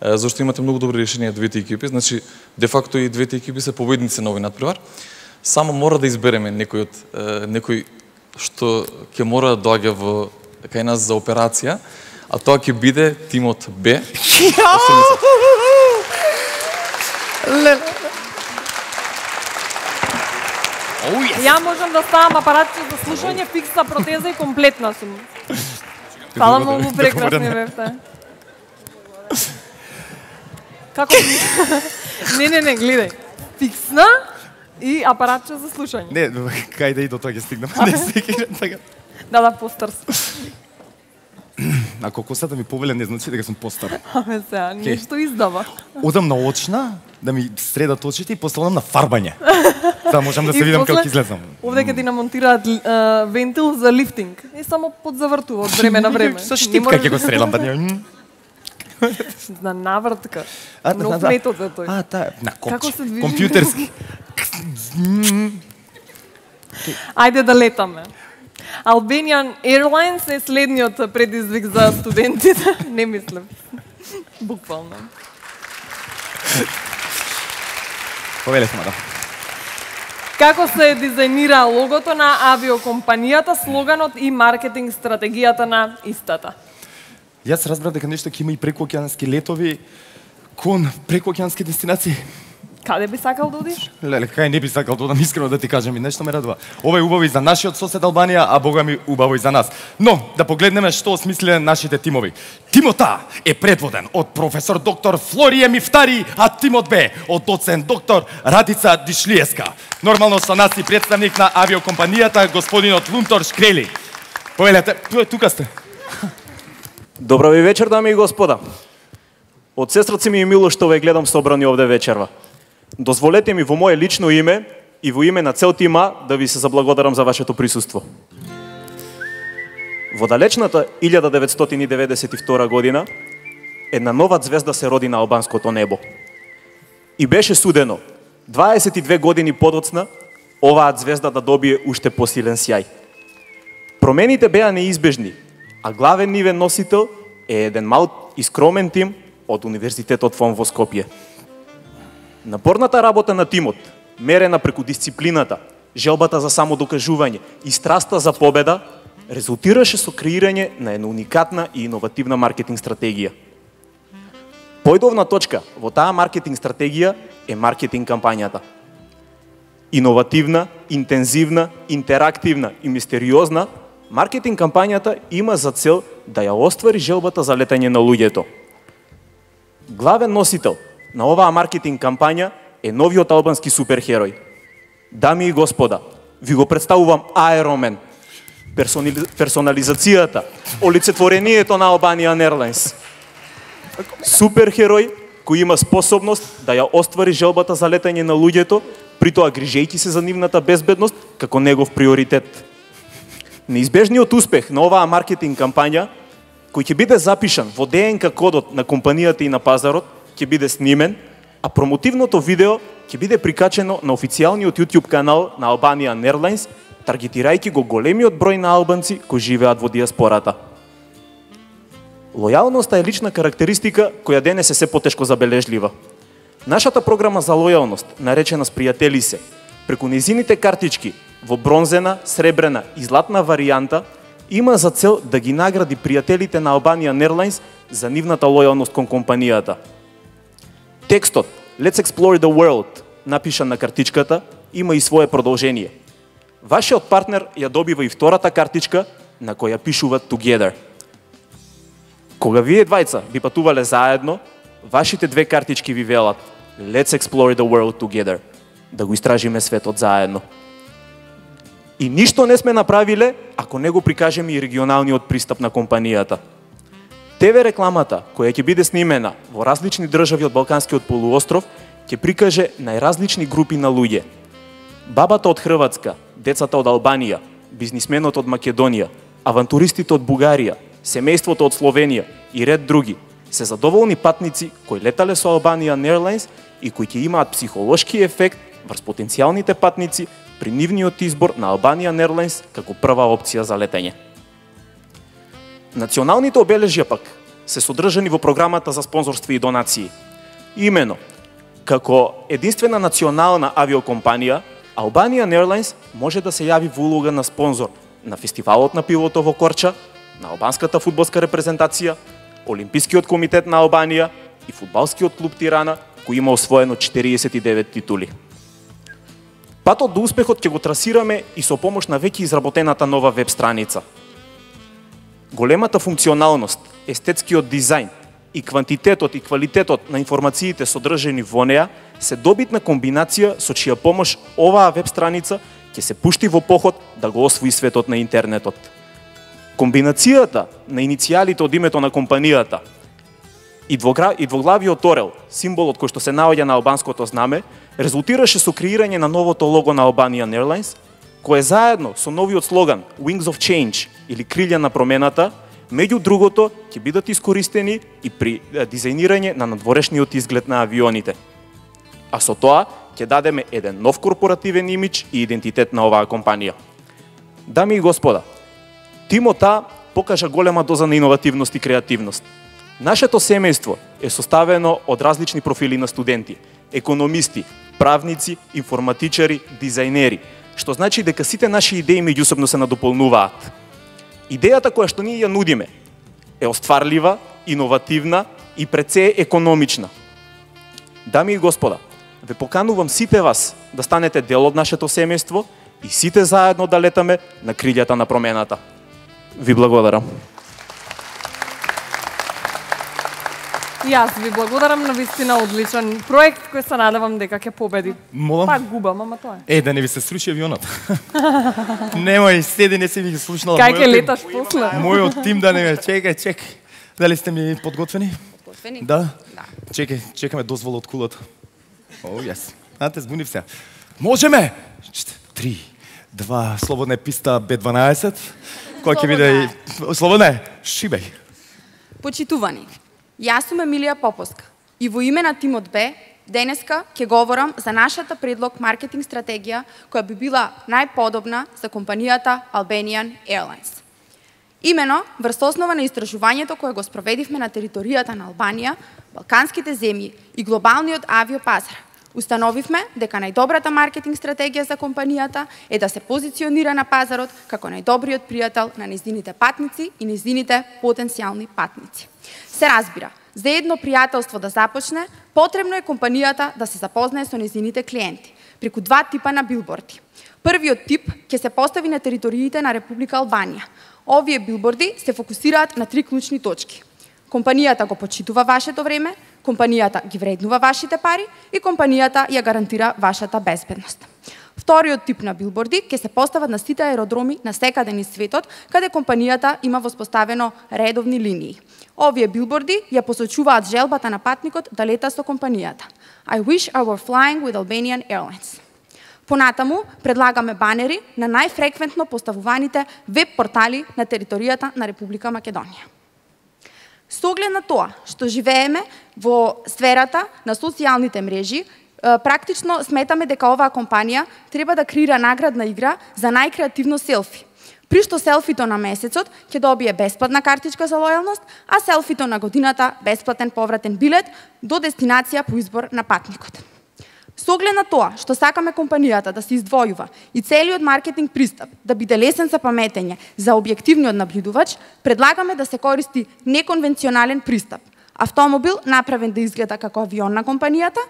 Зашто имате многу добри решенија двете екипи, значи де факто и двете екипи се победници на овој надпревар. Само мора да избереме некој од некој што ќе мора да доаѓа во кај нас за операција. А тоа ќе биде тимот Б. Ја можам да ставам апаратче за слушање, фиксна протеза и комплетна сум. Фала многу, прекрасни бевте. Како? Не, не, не, гледај. Фиксна и апаратче за слушање. Не, кај да и до тоа ќе стигнам. Не секирам така. Да, да, постар сум. Ако косата ми повеле, не значи дека сум постар. Аме сега, нешто издава. Одам на очна, да ми средат очите и после одам на фарбање. За можам да се видам како изгледам. Овде ќе ти намонтираат uh, вентил за лифтинг. И само подзавртува од време на време. Со штипка ќе го средам, па не. На навртка. А, Нов да, метод е тој. А, таа, на Како копче, се движи? компјутерски. Ајде да летаме. Albanian Airlines е следниот предизвик за студентите. Не мислам. Буквално. Повелете, мадам. Како се дизајнира логото на авиокомпанијата, слоганот и маркетинг стратегијата на истата? Јас разбрав дека нешто ќе има и прекоокеански летови кон прекоокеански дестинации. Каде би сакал да одиш? Леле, кај не би сакал да одам, искрено да ти кажам, и нешто ме радува. Ова е убаво и за нашиот сосед Албанија, а бога ми убаво и за нас. Но, да погледнеме што осмислиле нашите тимови. Тимот А е предводен од професор доктор Флорие Мифтари, а тимот Б од доцент доктор Радица Дишлиеска. Нормално со нас и представник на авиокомпанијата, господинот Лунтор Шкрели. Повелете, тука сте. Добро ви вечер, дами и господа. Од сестраци ми е мило што ве гледам собрани овде вечерва. Дозволете ми во мое лично име и во име на цел тима да ви се заблагодарам за вашето присуство. Во далечната илјада деветстотини деветдесет и втора година една нова ѕвезда се роди на албанското небо. И беше судено дваесет и две години подоцна оваа звезда да добие уште посилен сјај. Промените беа неизбежни, а главен нивен носител е еден мал и скромен тим од Универзитетот ФОН во Скопје. Напорната работа на тимот, мерена преку дисциплината, желбата за самодокажување и страста за победа, резултираше со креирање на една уникатна и иновативна маркетинг стратегија. Појдовна точка во таа маркетинг стратегија е маркетинг кампањата. Иновативна, интензивна, интерактивна и мистериозна, маркетинг кампањата има за цел да ја оствари желбата за летање на луѓето. Главен носител на оваа маркетинг кампања е новиот албански суперхерој. Дами и господа, ви го представувам Аеромен, персонализацијата, олицетворението на Albanian Airlines. Суперхерој кој има способност да ја оствари желбата за летање на луѓето, притоа грижејќи се за нивната безбедност како негов приоритет. Неизбежниот успех на оваа маркетинг кампања, кој ќе биде запишан во Д Н К кодот на компанијата и на пазарот, ќе биде снимен, а промотивното видео ќе биде прикачено на официјалниот YouTube канал на Albanian Airlines, таргетирајќи го големиот број на албанци кои живеат во диаспората. Лојалноста е лична карактеристика која денес е се потешко забележлива. Нашата програма за лојалност, наречена Спријатели се, преку нејзините картички во бронзена, сребрена и златна варијанта, има за цел да ги награди пријателите на Albanian Airlines за нивната лојалност кон компанијата. Текстот Let's Explore the World, напишан на картичката, има и свое продолжение. Вашиот партнер ја добива и втората картичка на која пишува Together. Кога вие двајца би патувале заедно, вашите две картички ви велат Let's Explore the World Together, да го истражиме светот заедно. И ништо не сме направиле ако не го прикажеме и регионалниот пристап на компанијата. Т В рекламата, која ќе биде снимена во различни држави од Балканскиот полуостров, ќе прикаже најразлични групи на луѓе. Бабата од Хрватска, децата од Албанија, бизнисменот од Македонија, авантуристите од Бугарија, семејството од Словенија и ред други, се задоволни патници кои летале со Albanian Airlines и кои ќе имаат психолошки ефект врз потенцијалните патници при нивниот избор на Albanian Airlines како прва опција за летање. Националните обележја пак се содржани во програмата за спонзорство и донации. Имено, како единствена национална авиокомпанија, Albanian Airlines може да се јави во улога на спонзор на фестивалот на пивото во Корча, на албанската фудбалска репрезентација, Олимпискиот комитет на Албанија и фудбалскиот клуб Тирана, кој има освоено четириесет и девет титули. Патот до успехот ќе го трасираме и со помош на веќе изработената нова веб страница. Големата функционалност, естетскиот дизајн и квантитетот и квалитетот на информациите содржани во неа се добитна комбинација со чија помош оваа веб страница ќе се пушти во поход да го освои светот на интернетот. Комбинацијата на иницијалите од името на компанијата и двоглавиот орел, символот кој што се наоѓа на албанското знаме, резултираше со креирање на новото лого на Albanian Airlines, кое заедно со новиот слоган Wings of Change или крилја на промената, меѓу другото ќе бидат искористени и при дизајнирање на надворешниот изглед на авионите. А со тоа ќе дадеме еден нов корпоративен имидж и идентитет на оваа компанија. Дами и господа, тимот А покажа голема доза на иновативност и креативност. Нашето семејство е составено од различни профили на студенти, економисти, правници, информатичари, дизајнери, што значи дека сите наши идеи меѓусебно се надополнуваат. Идејата која што ние ја нудиме е остварлива, иновативна и пред се економична. Дами и господа, ве поканувам сите вас да станете дел од нашето семејство и сите заедно да летаме на крилјата на промената. Ви благодарам. И јас ви благодарам, на вистина одличен проект кој се надевам дека ќе победи. Молам? Пак губам, ама тоа е. Е, да не ви се сруши авионот. Немој, седи, не си ми ги слушнала. Кај ќе леташ после? Мојот тим да не ме чекај, чекај. Дали сте ми подготвени? Подготвени? Да? Да. Чекај, чекаме дозвола од кулата. О, јас. А, те збунив се. Можеме! Три, два, слободна е писта Б дванаесет. Кој ќе биде... Слободна е? Шибеј. Почитувани, јас сум Емилија Поповска и во име на тимот Б денеска ќе говорам за нашата предлог маркетинг стратегија која би била најподобна за компанијата Albanian Airlines. Имено, врз основа на истражувањето кое го спроведивме на територијата на Албанија, балканските земји и глобалниот авиопазар, установивме дека најдобрата маркетинг стратегија за компанијата е да се позиционира на пазарот како најдобриот пријател на нејзините патници и нејзините потенцијални патници. Се разбира, за едно пријателство да започне, потребно е компанијата да се запознае со нејзините клиенти, преку два типа на билборди. Првиот тип ќе се постави на териториите на Република Албанија. Овие билборди се фокусираат на три клучни точки. Компанијата го почитува вашето време, компанијата ги вреднува вашите пари и компанијата ја гарантира вашата безбедност. Вториот тип на билборди ќе се постават на сите аеродроми на секаде низ светот, каде компанијата има воспоставено редовни линии. Овие билборди ја посочуваат желбата на патникот да лета со компанијата. I wish I were flying with Albanian Airlines. Понатаму, предлагаме банери на најфреквентно поставуваните веб-портали на територијата на Република Македонија. Со оглед на тоа што живееме во сферата на социјалните мрежи, практично сметаме дека оваа компанија треба да креира наградна игра за најкреативно селфи. При што селфито на месецот ќе добие бесплатна картичка за лојалност, а селфито на годината бесплатен повратен билет до дестинација по избор на патникот. Со оглед на тоа што сакаме компанијата да се издвојува и целиот маркетинг пристап да биде лесен за паметење за објективниот набљудувач, предлагаме да се користи неконвенционален пристап. Автомобил направен да изгледа како авион на компанијата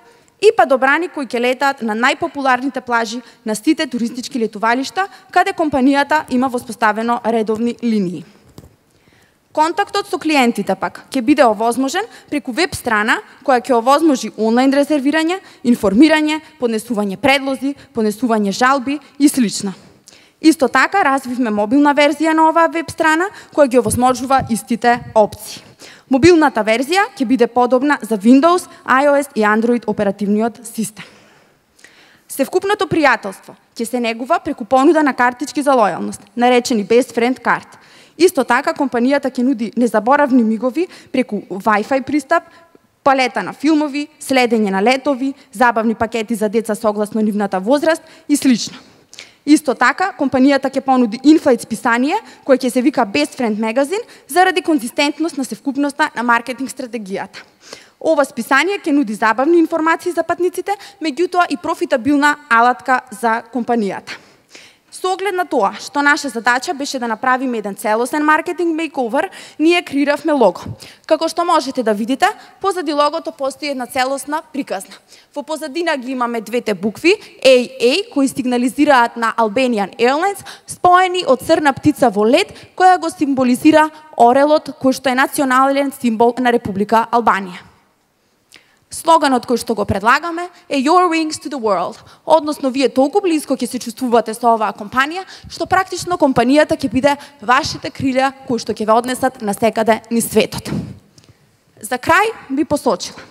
и падобрани кои ќе летаат на најпопуларните плажи на сите туристички летувалишта, каде компанијата има воспоставено редовни линии. Контактот со клиентите пак ќе биде овозможен преку веб страна која ќе овозможи онлайн резервирање, информирање, поднесување предлози, поднесување жалби и слично. Исто така развивме мобилна верзија на оваа веб страна која ги овозможува истите опции. Мобилната верзија ќе биде подобна за Windows, iOS и Android оперативниот систем. Севкупното пријателство ќе се негува преку понуда на картички за лојалност, наречени Best Friend Card. Исто така, компанијата ќе нуди незаборавни мигови преку Wi-Fi пристап, палета на филмови, следење на летови, забавни пакети за деца согласно нивната возраст и слично. Исто така, компанијата ќе понуди инфлайт списание, кое ќе се вика Best Friend Magazine, заради конзистентност на севкупноста на маркетинг стратегијата. Ова списание ќе нуди забавни информации за патниците, меѓутоа и профитабилна алатка за компанијата. Со оглед на тоа што наша задача беше да направиме еден целосен маркетинг мейковер, ние креиравме лого. Како што можете да видите, позади логото постои една целосна приказна. Во позадина ги имаме двете букви A A кои сигнализираат на Albanian Airlines, споени од црна птица во лед која го символизира орелот кој што е национален символ на Република Албанија. Слоганот кој што го предлагаме е Your Wings to the World, односно вие толку близко ќе се чувствувате со оваа компанија, што практично компанијата ќе биде вашите крилја кои што ќе ве однесат на секаде низ светот. За крај би посочила,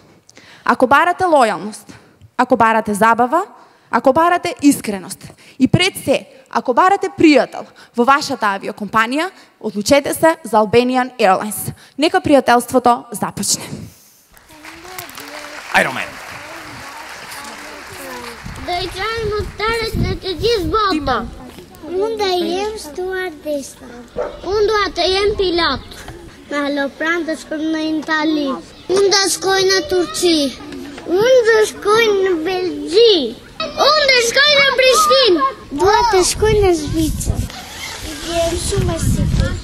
ако барате лојалност, ако барате забава, ако барате искреност и пред се, ако барате пријател во вашата авиокомпанија, одлучете се за Albanian Airlines. Нека пријателството започне. Iron Man. Da i trajmo talet në të gjithë botën. Unë da jem stuardesa. Unë dua të jem pilot. Me halopran të shkojmë në Itali. Unë da shkoj në Turqi. Unë da shkoj në Belgji. Unë da shkoj në Prishtinë. Dua të shkoj në Zvicër. I jem shumë e sikur.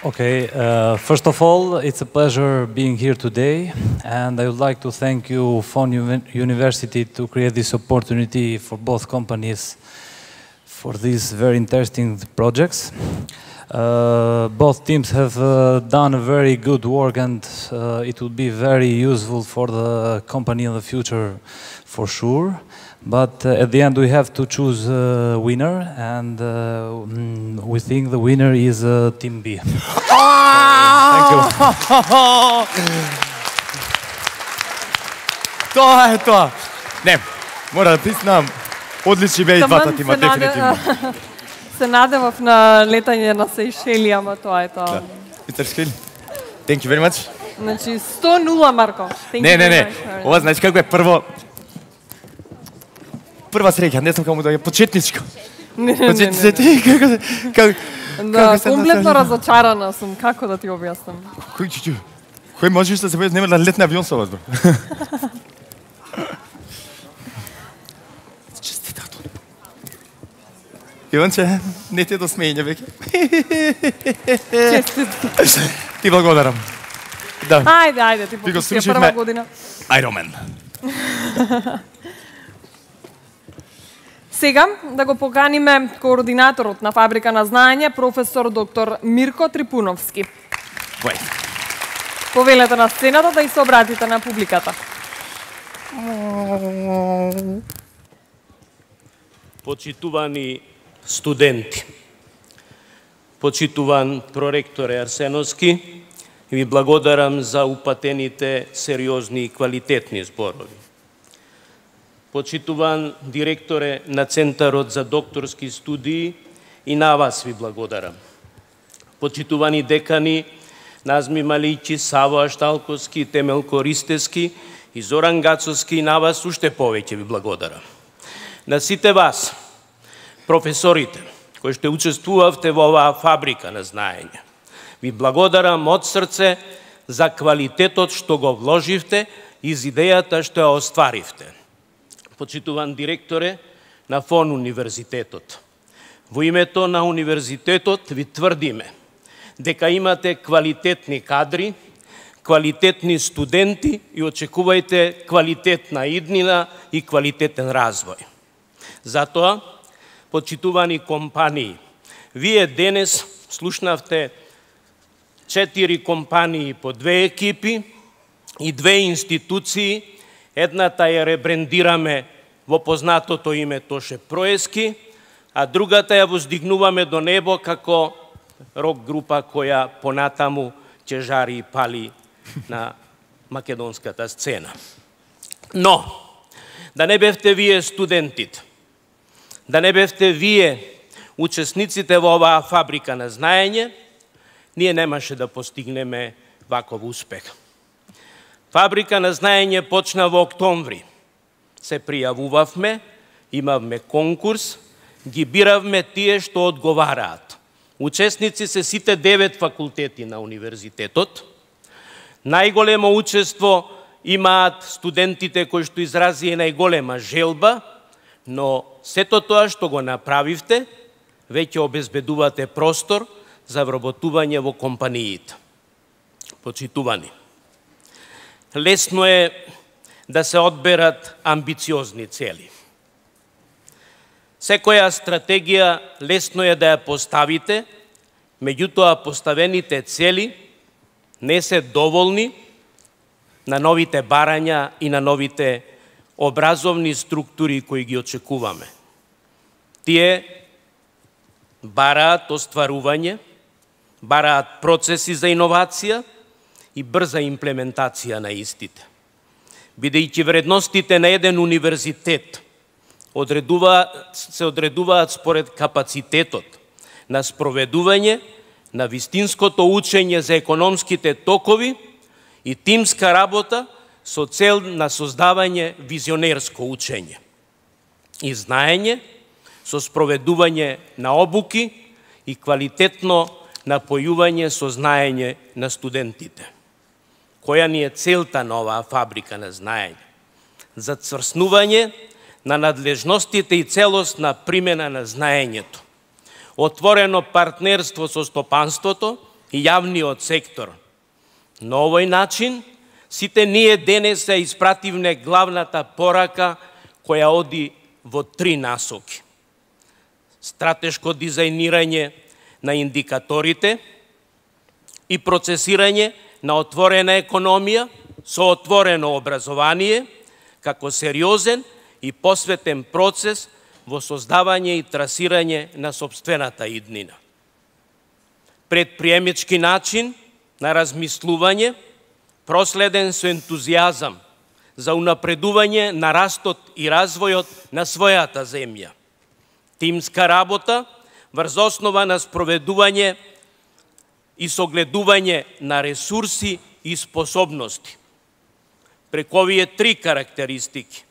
Okay, uh, first of all, it's a pleasure being here today, and I would like to thank you, F O N University, to create this opportunity for both companies for these very interesting projects. Uh, both teams have uh, done a very good work, and uh, it will be very useful for the company in the future, for sure. But uh, at the end, we have to choose a winner, and uh, mm, we think the winner is uh, Team B. Thank you. Тоа е тоа. Не, мора да признам, одлични беа и двата тима, дефинитивно. Се надевав на летање на Сејшели, ама тоа е тоа. Мистер Шкели, thank you very much. Значи, сто нула, Марко. Не, не, не. Ова значи како е прво... Прва среќа, не знам како му да е почетничко. Не, не, не, не. Како Да, комплетно разочарана сум, како да ти објаснам. Кој чуќу? Кој можеш да се појдеш нема на летна авион со вас, бро? Честитато. Иванче, не те до смење веќе. Честито. Ти благодарам. Да. Ајде, ајде, ти попустија прва година. Ironman. Сега да го поканиме координаторот на Фабрика на знаење, професор доктор Мирко Трипуновски. Вој. Повелете на сцената да и се обратите на публиката. Почитувани студенти, почитуван проректоре Арсеновски, ви благодарам за упатените сериозни и квалитетни зборови. Почитуван директоре на Центарот за докторски студии, и на вас ви благодарам. Почитувани декани Назми Малијчи, Саво Ашталковски, Темелко Ристевски и Зоран Гацовски, и на вас уште повеќе ви благодарам. На сите вас, професорите, кои што учествувавте во оваа фабрика на знаење, ви благодарам од срце за квалитетот што го вложивте и за идејата што ја остваривте. Почитуван директоре на ФОН Универзитетот, во името на Универзитетот ви тврдиме дека имате квалитетни кадри, квалитетни студенти и очекувајте квалитетна иднина и квалитетен развој. Затоа, почитувани компании, вие денес слушнавте четири компании по две екипи и две институции. Едната ја ребрендираме во познатото име Тоше Проески, а другата ја воздигнуваме до небо како рок група која понатаму ќе жари и пали на македонската сцена. Но, да не бевте вие студентите, да не бевте вие учесниците во оваа фабрика на знаење, ние немаше да постигнеме ваков успех. Фабрика на знаење почна во октомври. Се пријавувавме, имавме конкурс, ги биравме тие што одговараат. Учесници се сите девет факултети на универзитетот. Најголемо учество имаат студентите кои што изразија најголема желба, но сето тоа што го направивте, веќе обезбедувате простор за вработување во компаниите. Почитувани, лесно е да се одберат амбициозни цели. Секоја стратегија лесно е да ја поставите, меѓутоа поставените цели не се доволни на новите барања и на новите образовни структури кои ги очекуваме. Тие бараат остварување, бараат процеси за иновација и брза имплементација на истите. Бидејќи вредностите на еден универзитет одредуваат, се одредуваат според капацитетот на спроведување на вистинското учење за економските токови и тимска работа со цел на создавање визионерско учење и знаење со спроведување на обуки и квалитетно напојување со знаење на студентите. Која ни е целта на оваа фабрика на знаење? Зацврснување на надлежностите и целосна примена на знаењето, отворено партнерство со стопанството и јавниот сектор. На овој начин, сите ние денес ја испративме главната порака која оди во три насоки. Стратешко дизајнирање на индикаторите и процесирање на отворена економија со отворено образование како сериозен и посветен процес во создавање и трасирање на сопствената иднина. Предприемачки начин на размислување, проследен со ентузијазам за унапредување на растот и развојот на својата земја. Тимска работа врз основа на спроведување и согледување на ресурси и способности. Преку овие три карактеристики,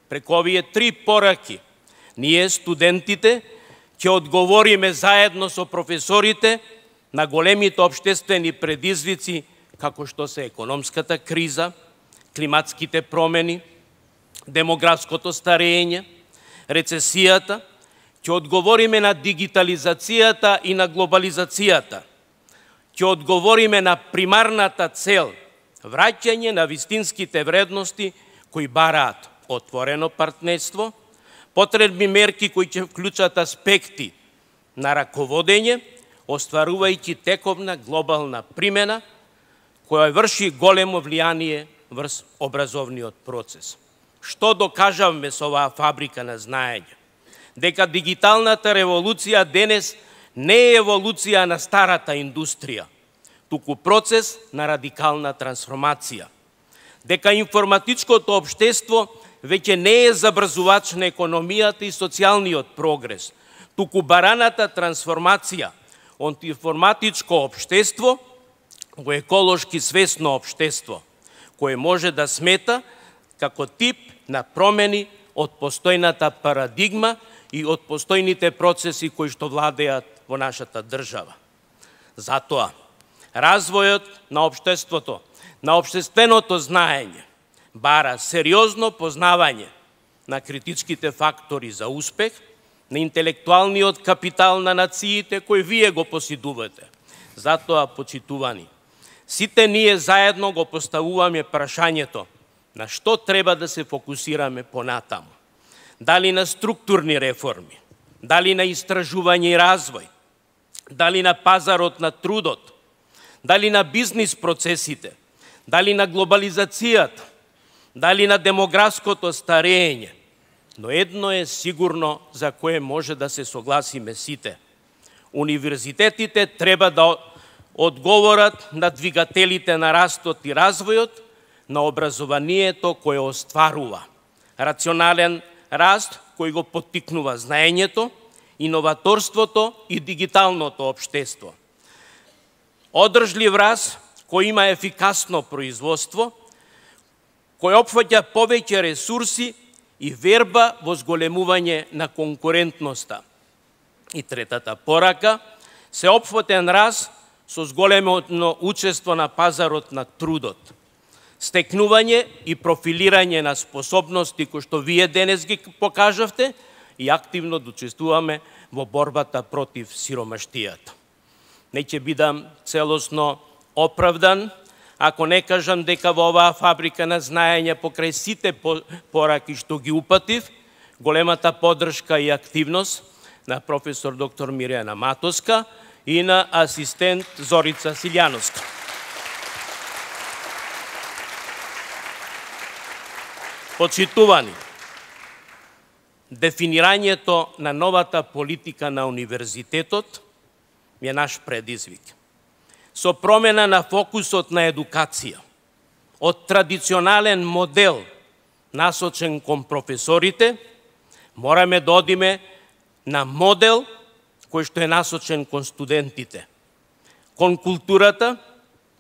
преку овие три пораки, ние студентите ќе одговориме заедно со професорите на големите општествени предизвици како што се економската криза, климатските промени, демографското старење, рецесијата, ќе одговориме на дигитализацијата и на глобализацијата, ќе одговориме на примарната цел враќање на вистинските вредности кои бараат отворено партнерство, потребни мерки кои ќе вклучат аспекти на раководење, остварувајќи тековна глобална примена која врши големо влијание врз образовниот процес. Што докажавме со оваа фабрика на знаење? Дека дигиталната револуција денес не е еволуција на старата индустрија, туку процес на радикална трансформација. Дека информатичкото општество веќе не е забрзувач на економијата и социјалниот прогрес, туку бараната трансформација од информатичко општество во еколошки свесно општество, кое може да смета како тип на промени од постојната парадигма и од постојните процеси кои што владеат во нашата држава. Затоа, развојот на општеството, на општественото знаење, бара сериозно познавање на критичките фактори за успех, на интелектуалниот капитал на нациите кои вие го поседувате. Затоа, почитувани, сите ние заедно го поставуваме прашањето на што треба да се фокусираме понатаму. Дали на структурни реформи, дали на истражување и развој, дали на пазарот на трудот, дали на бизнис процесите, дали на глобализацијата, дали на демографското старење. Но едно е сигурно за кое може да се согласиме сите. Универзитетите треба да одговорат на двигателите на растот и развојот, на образованието кое остварува рационален раст кој го поттикнува знаењето, иноваторството и дигиталното општество. Одржлив раст кој има ефикасно производство, кој опфаќа повеќе ресурси и верба во зголемување на конкурентноста. И третата порака, сеопфатен раст со зголемено учество на пазарот на трудот. Стекнување и профилирање на способности кои што вие денес ги покажавте и активно да учествуваме во борбата против сиромаштијата. Не ќе бидам целосно оправдан ако не кажам дека во оваа фабрика на знаење покрај сите пораки што ги упатив, големата поддршка и активност на професор доктор Мирјана Матоска и на асистент Зорица Силјановска. Почитувани, дефинирањето на новата политика на универзитетот е наш предизвик. Со промена на фокусот на едукација, од традиционален модел насочен кон професорите, мораме да одиме на модел кој што е насочен кон студентите, кон културата,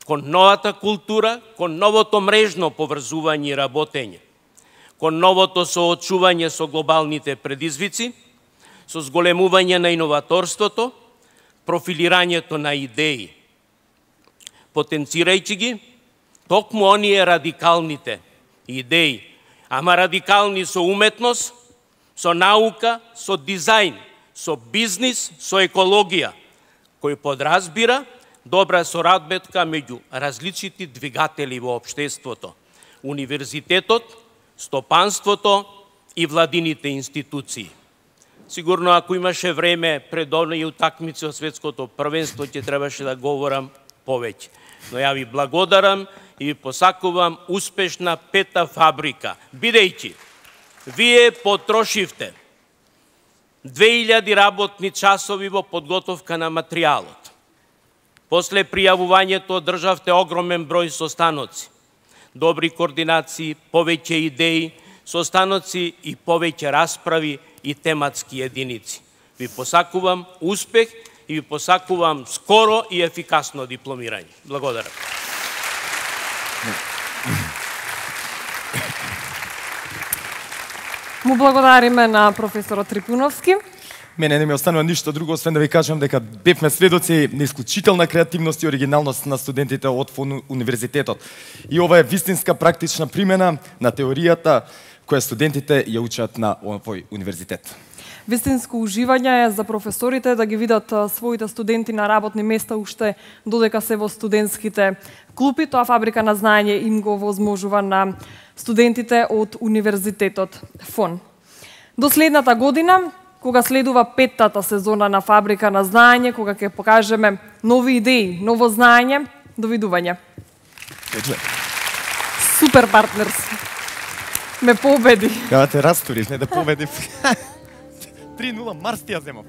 кон новата култура, кон новото мрежно поврзување и работење, кон новото соочување со глобалните предизвици, со зголемување на иноваторството, профилирањето на идеи, потенцирајќи ги токму оние радикалните идеи, ама радикални со уметност, со наука, со дизајн, со бизнис, со екологија, кој подразбира добра сорадбетка меѓу различити двигатели во општеството, универзитетот, стопанството и владините институции. Сигурно ако имаше време пред оние утакмици од светското првенство ќе требаше да говорам повеќе. Но ја ви благодарам и ви посакувам успешна пета фабрика, бидејќи Вие потрошивте две илјади работни часови во подготовка на материјалот. После пријавувањето одржавте огромен број состаноци, добри координации, повеќе идеи, состаноци и повеќе расправи и тематски единици. Ви посакувам успех и ви посакувам скоро и ефикасно дипломирање. Благодарам. Му благодариме на професорот Трипуновски. Мене не ми останува ништо друго, освен да ви кажам дека бевме сведоци на исклучителна креативност и оригиналност на студентите од ФОН универзитетот. И ова е вистинска практична примена на теоријата која студентите ја учат на овој универзитет. Вистинско уживање е за професорите да ги видат своите студенти на работни места уште додека се во студентските клупи. Тоа Фабрика на знаење им го возможува на студентите од универзитетот ФОН. До следната година, кога следува петтата сезона на Фабрика на знаење, кога ќе покажеме нови идеи, ново знаење, довидување. Супер партнерс. Ме победи. Кога те растурив, не да победив. три нула Марс ти ја земав.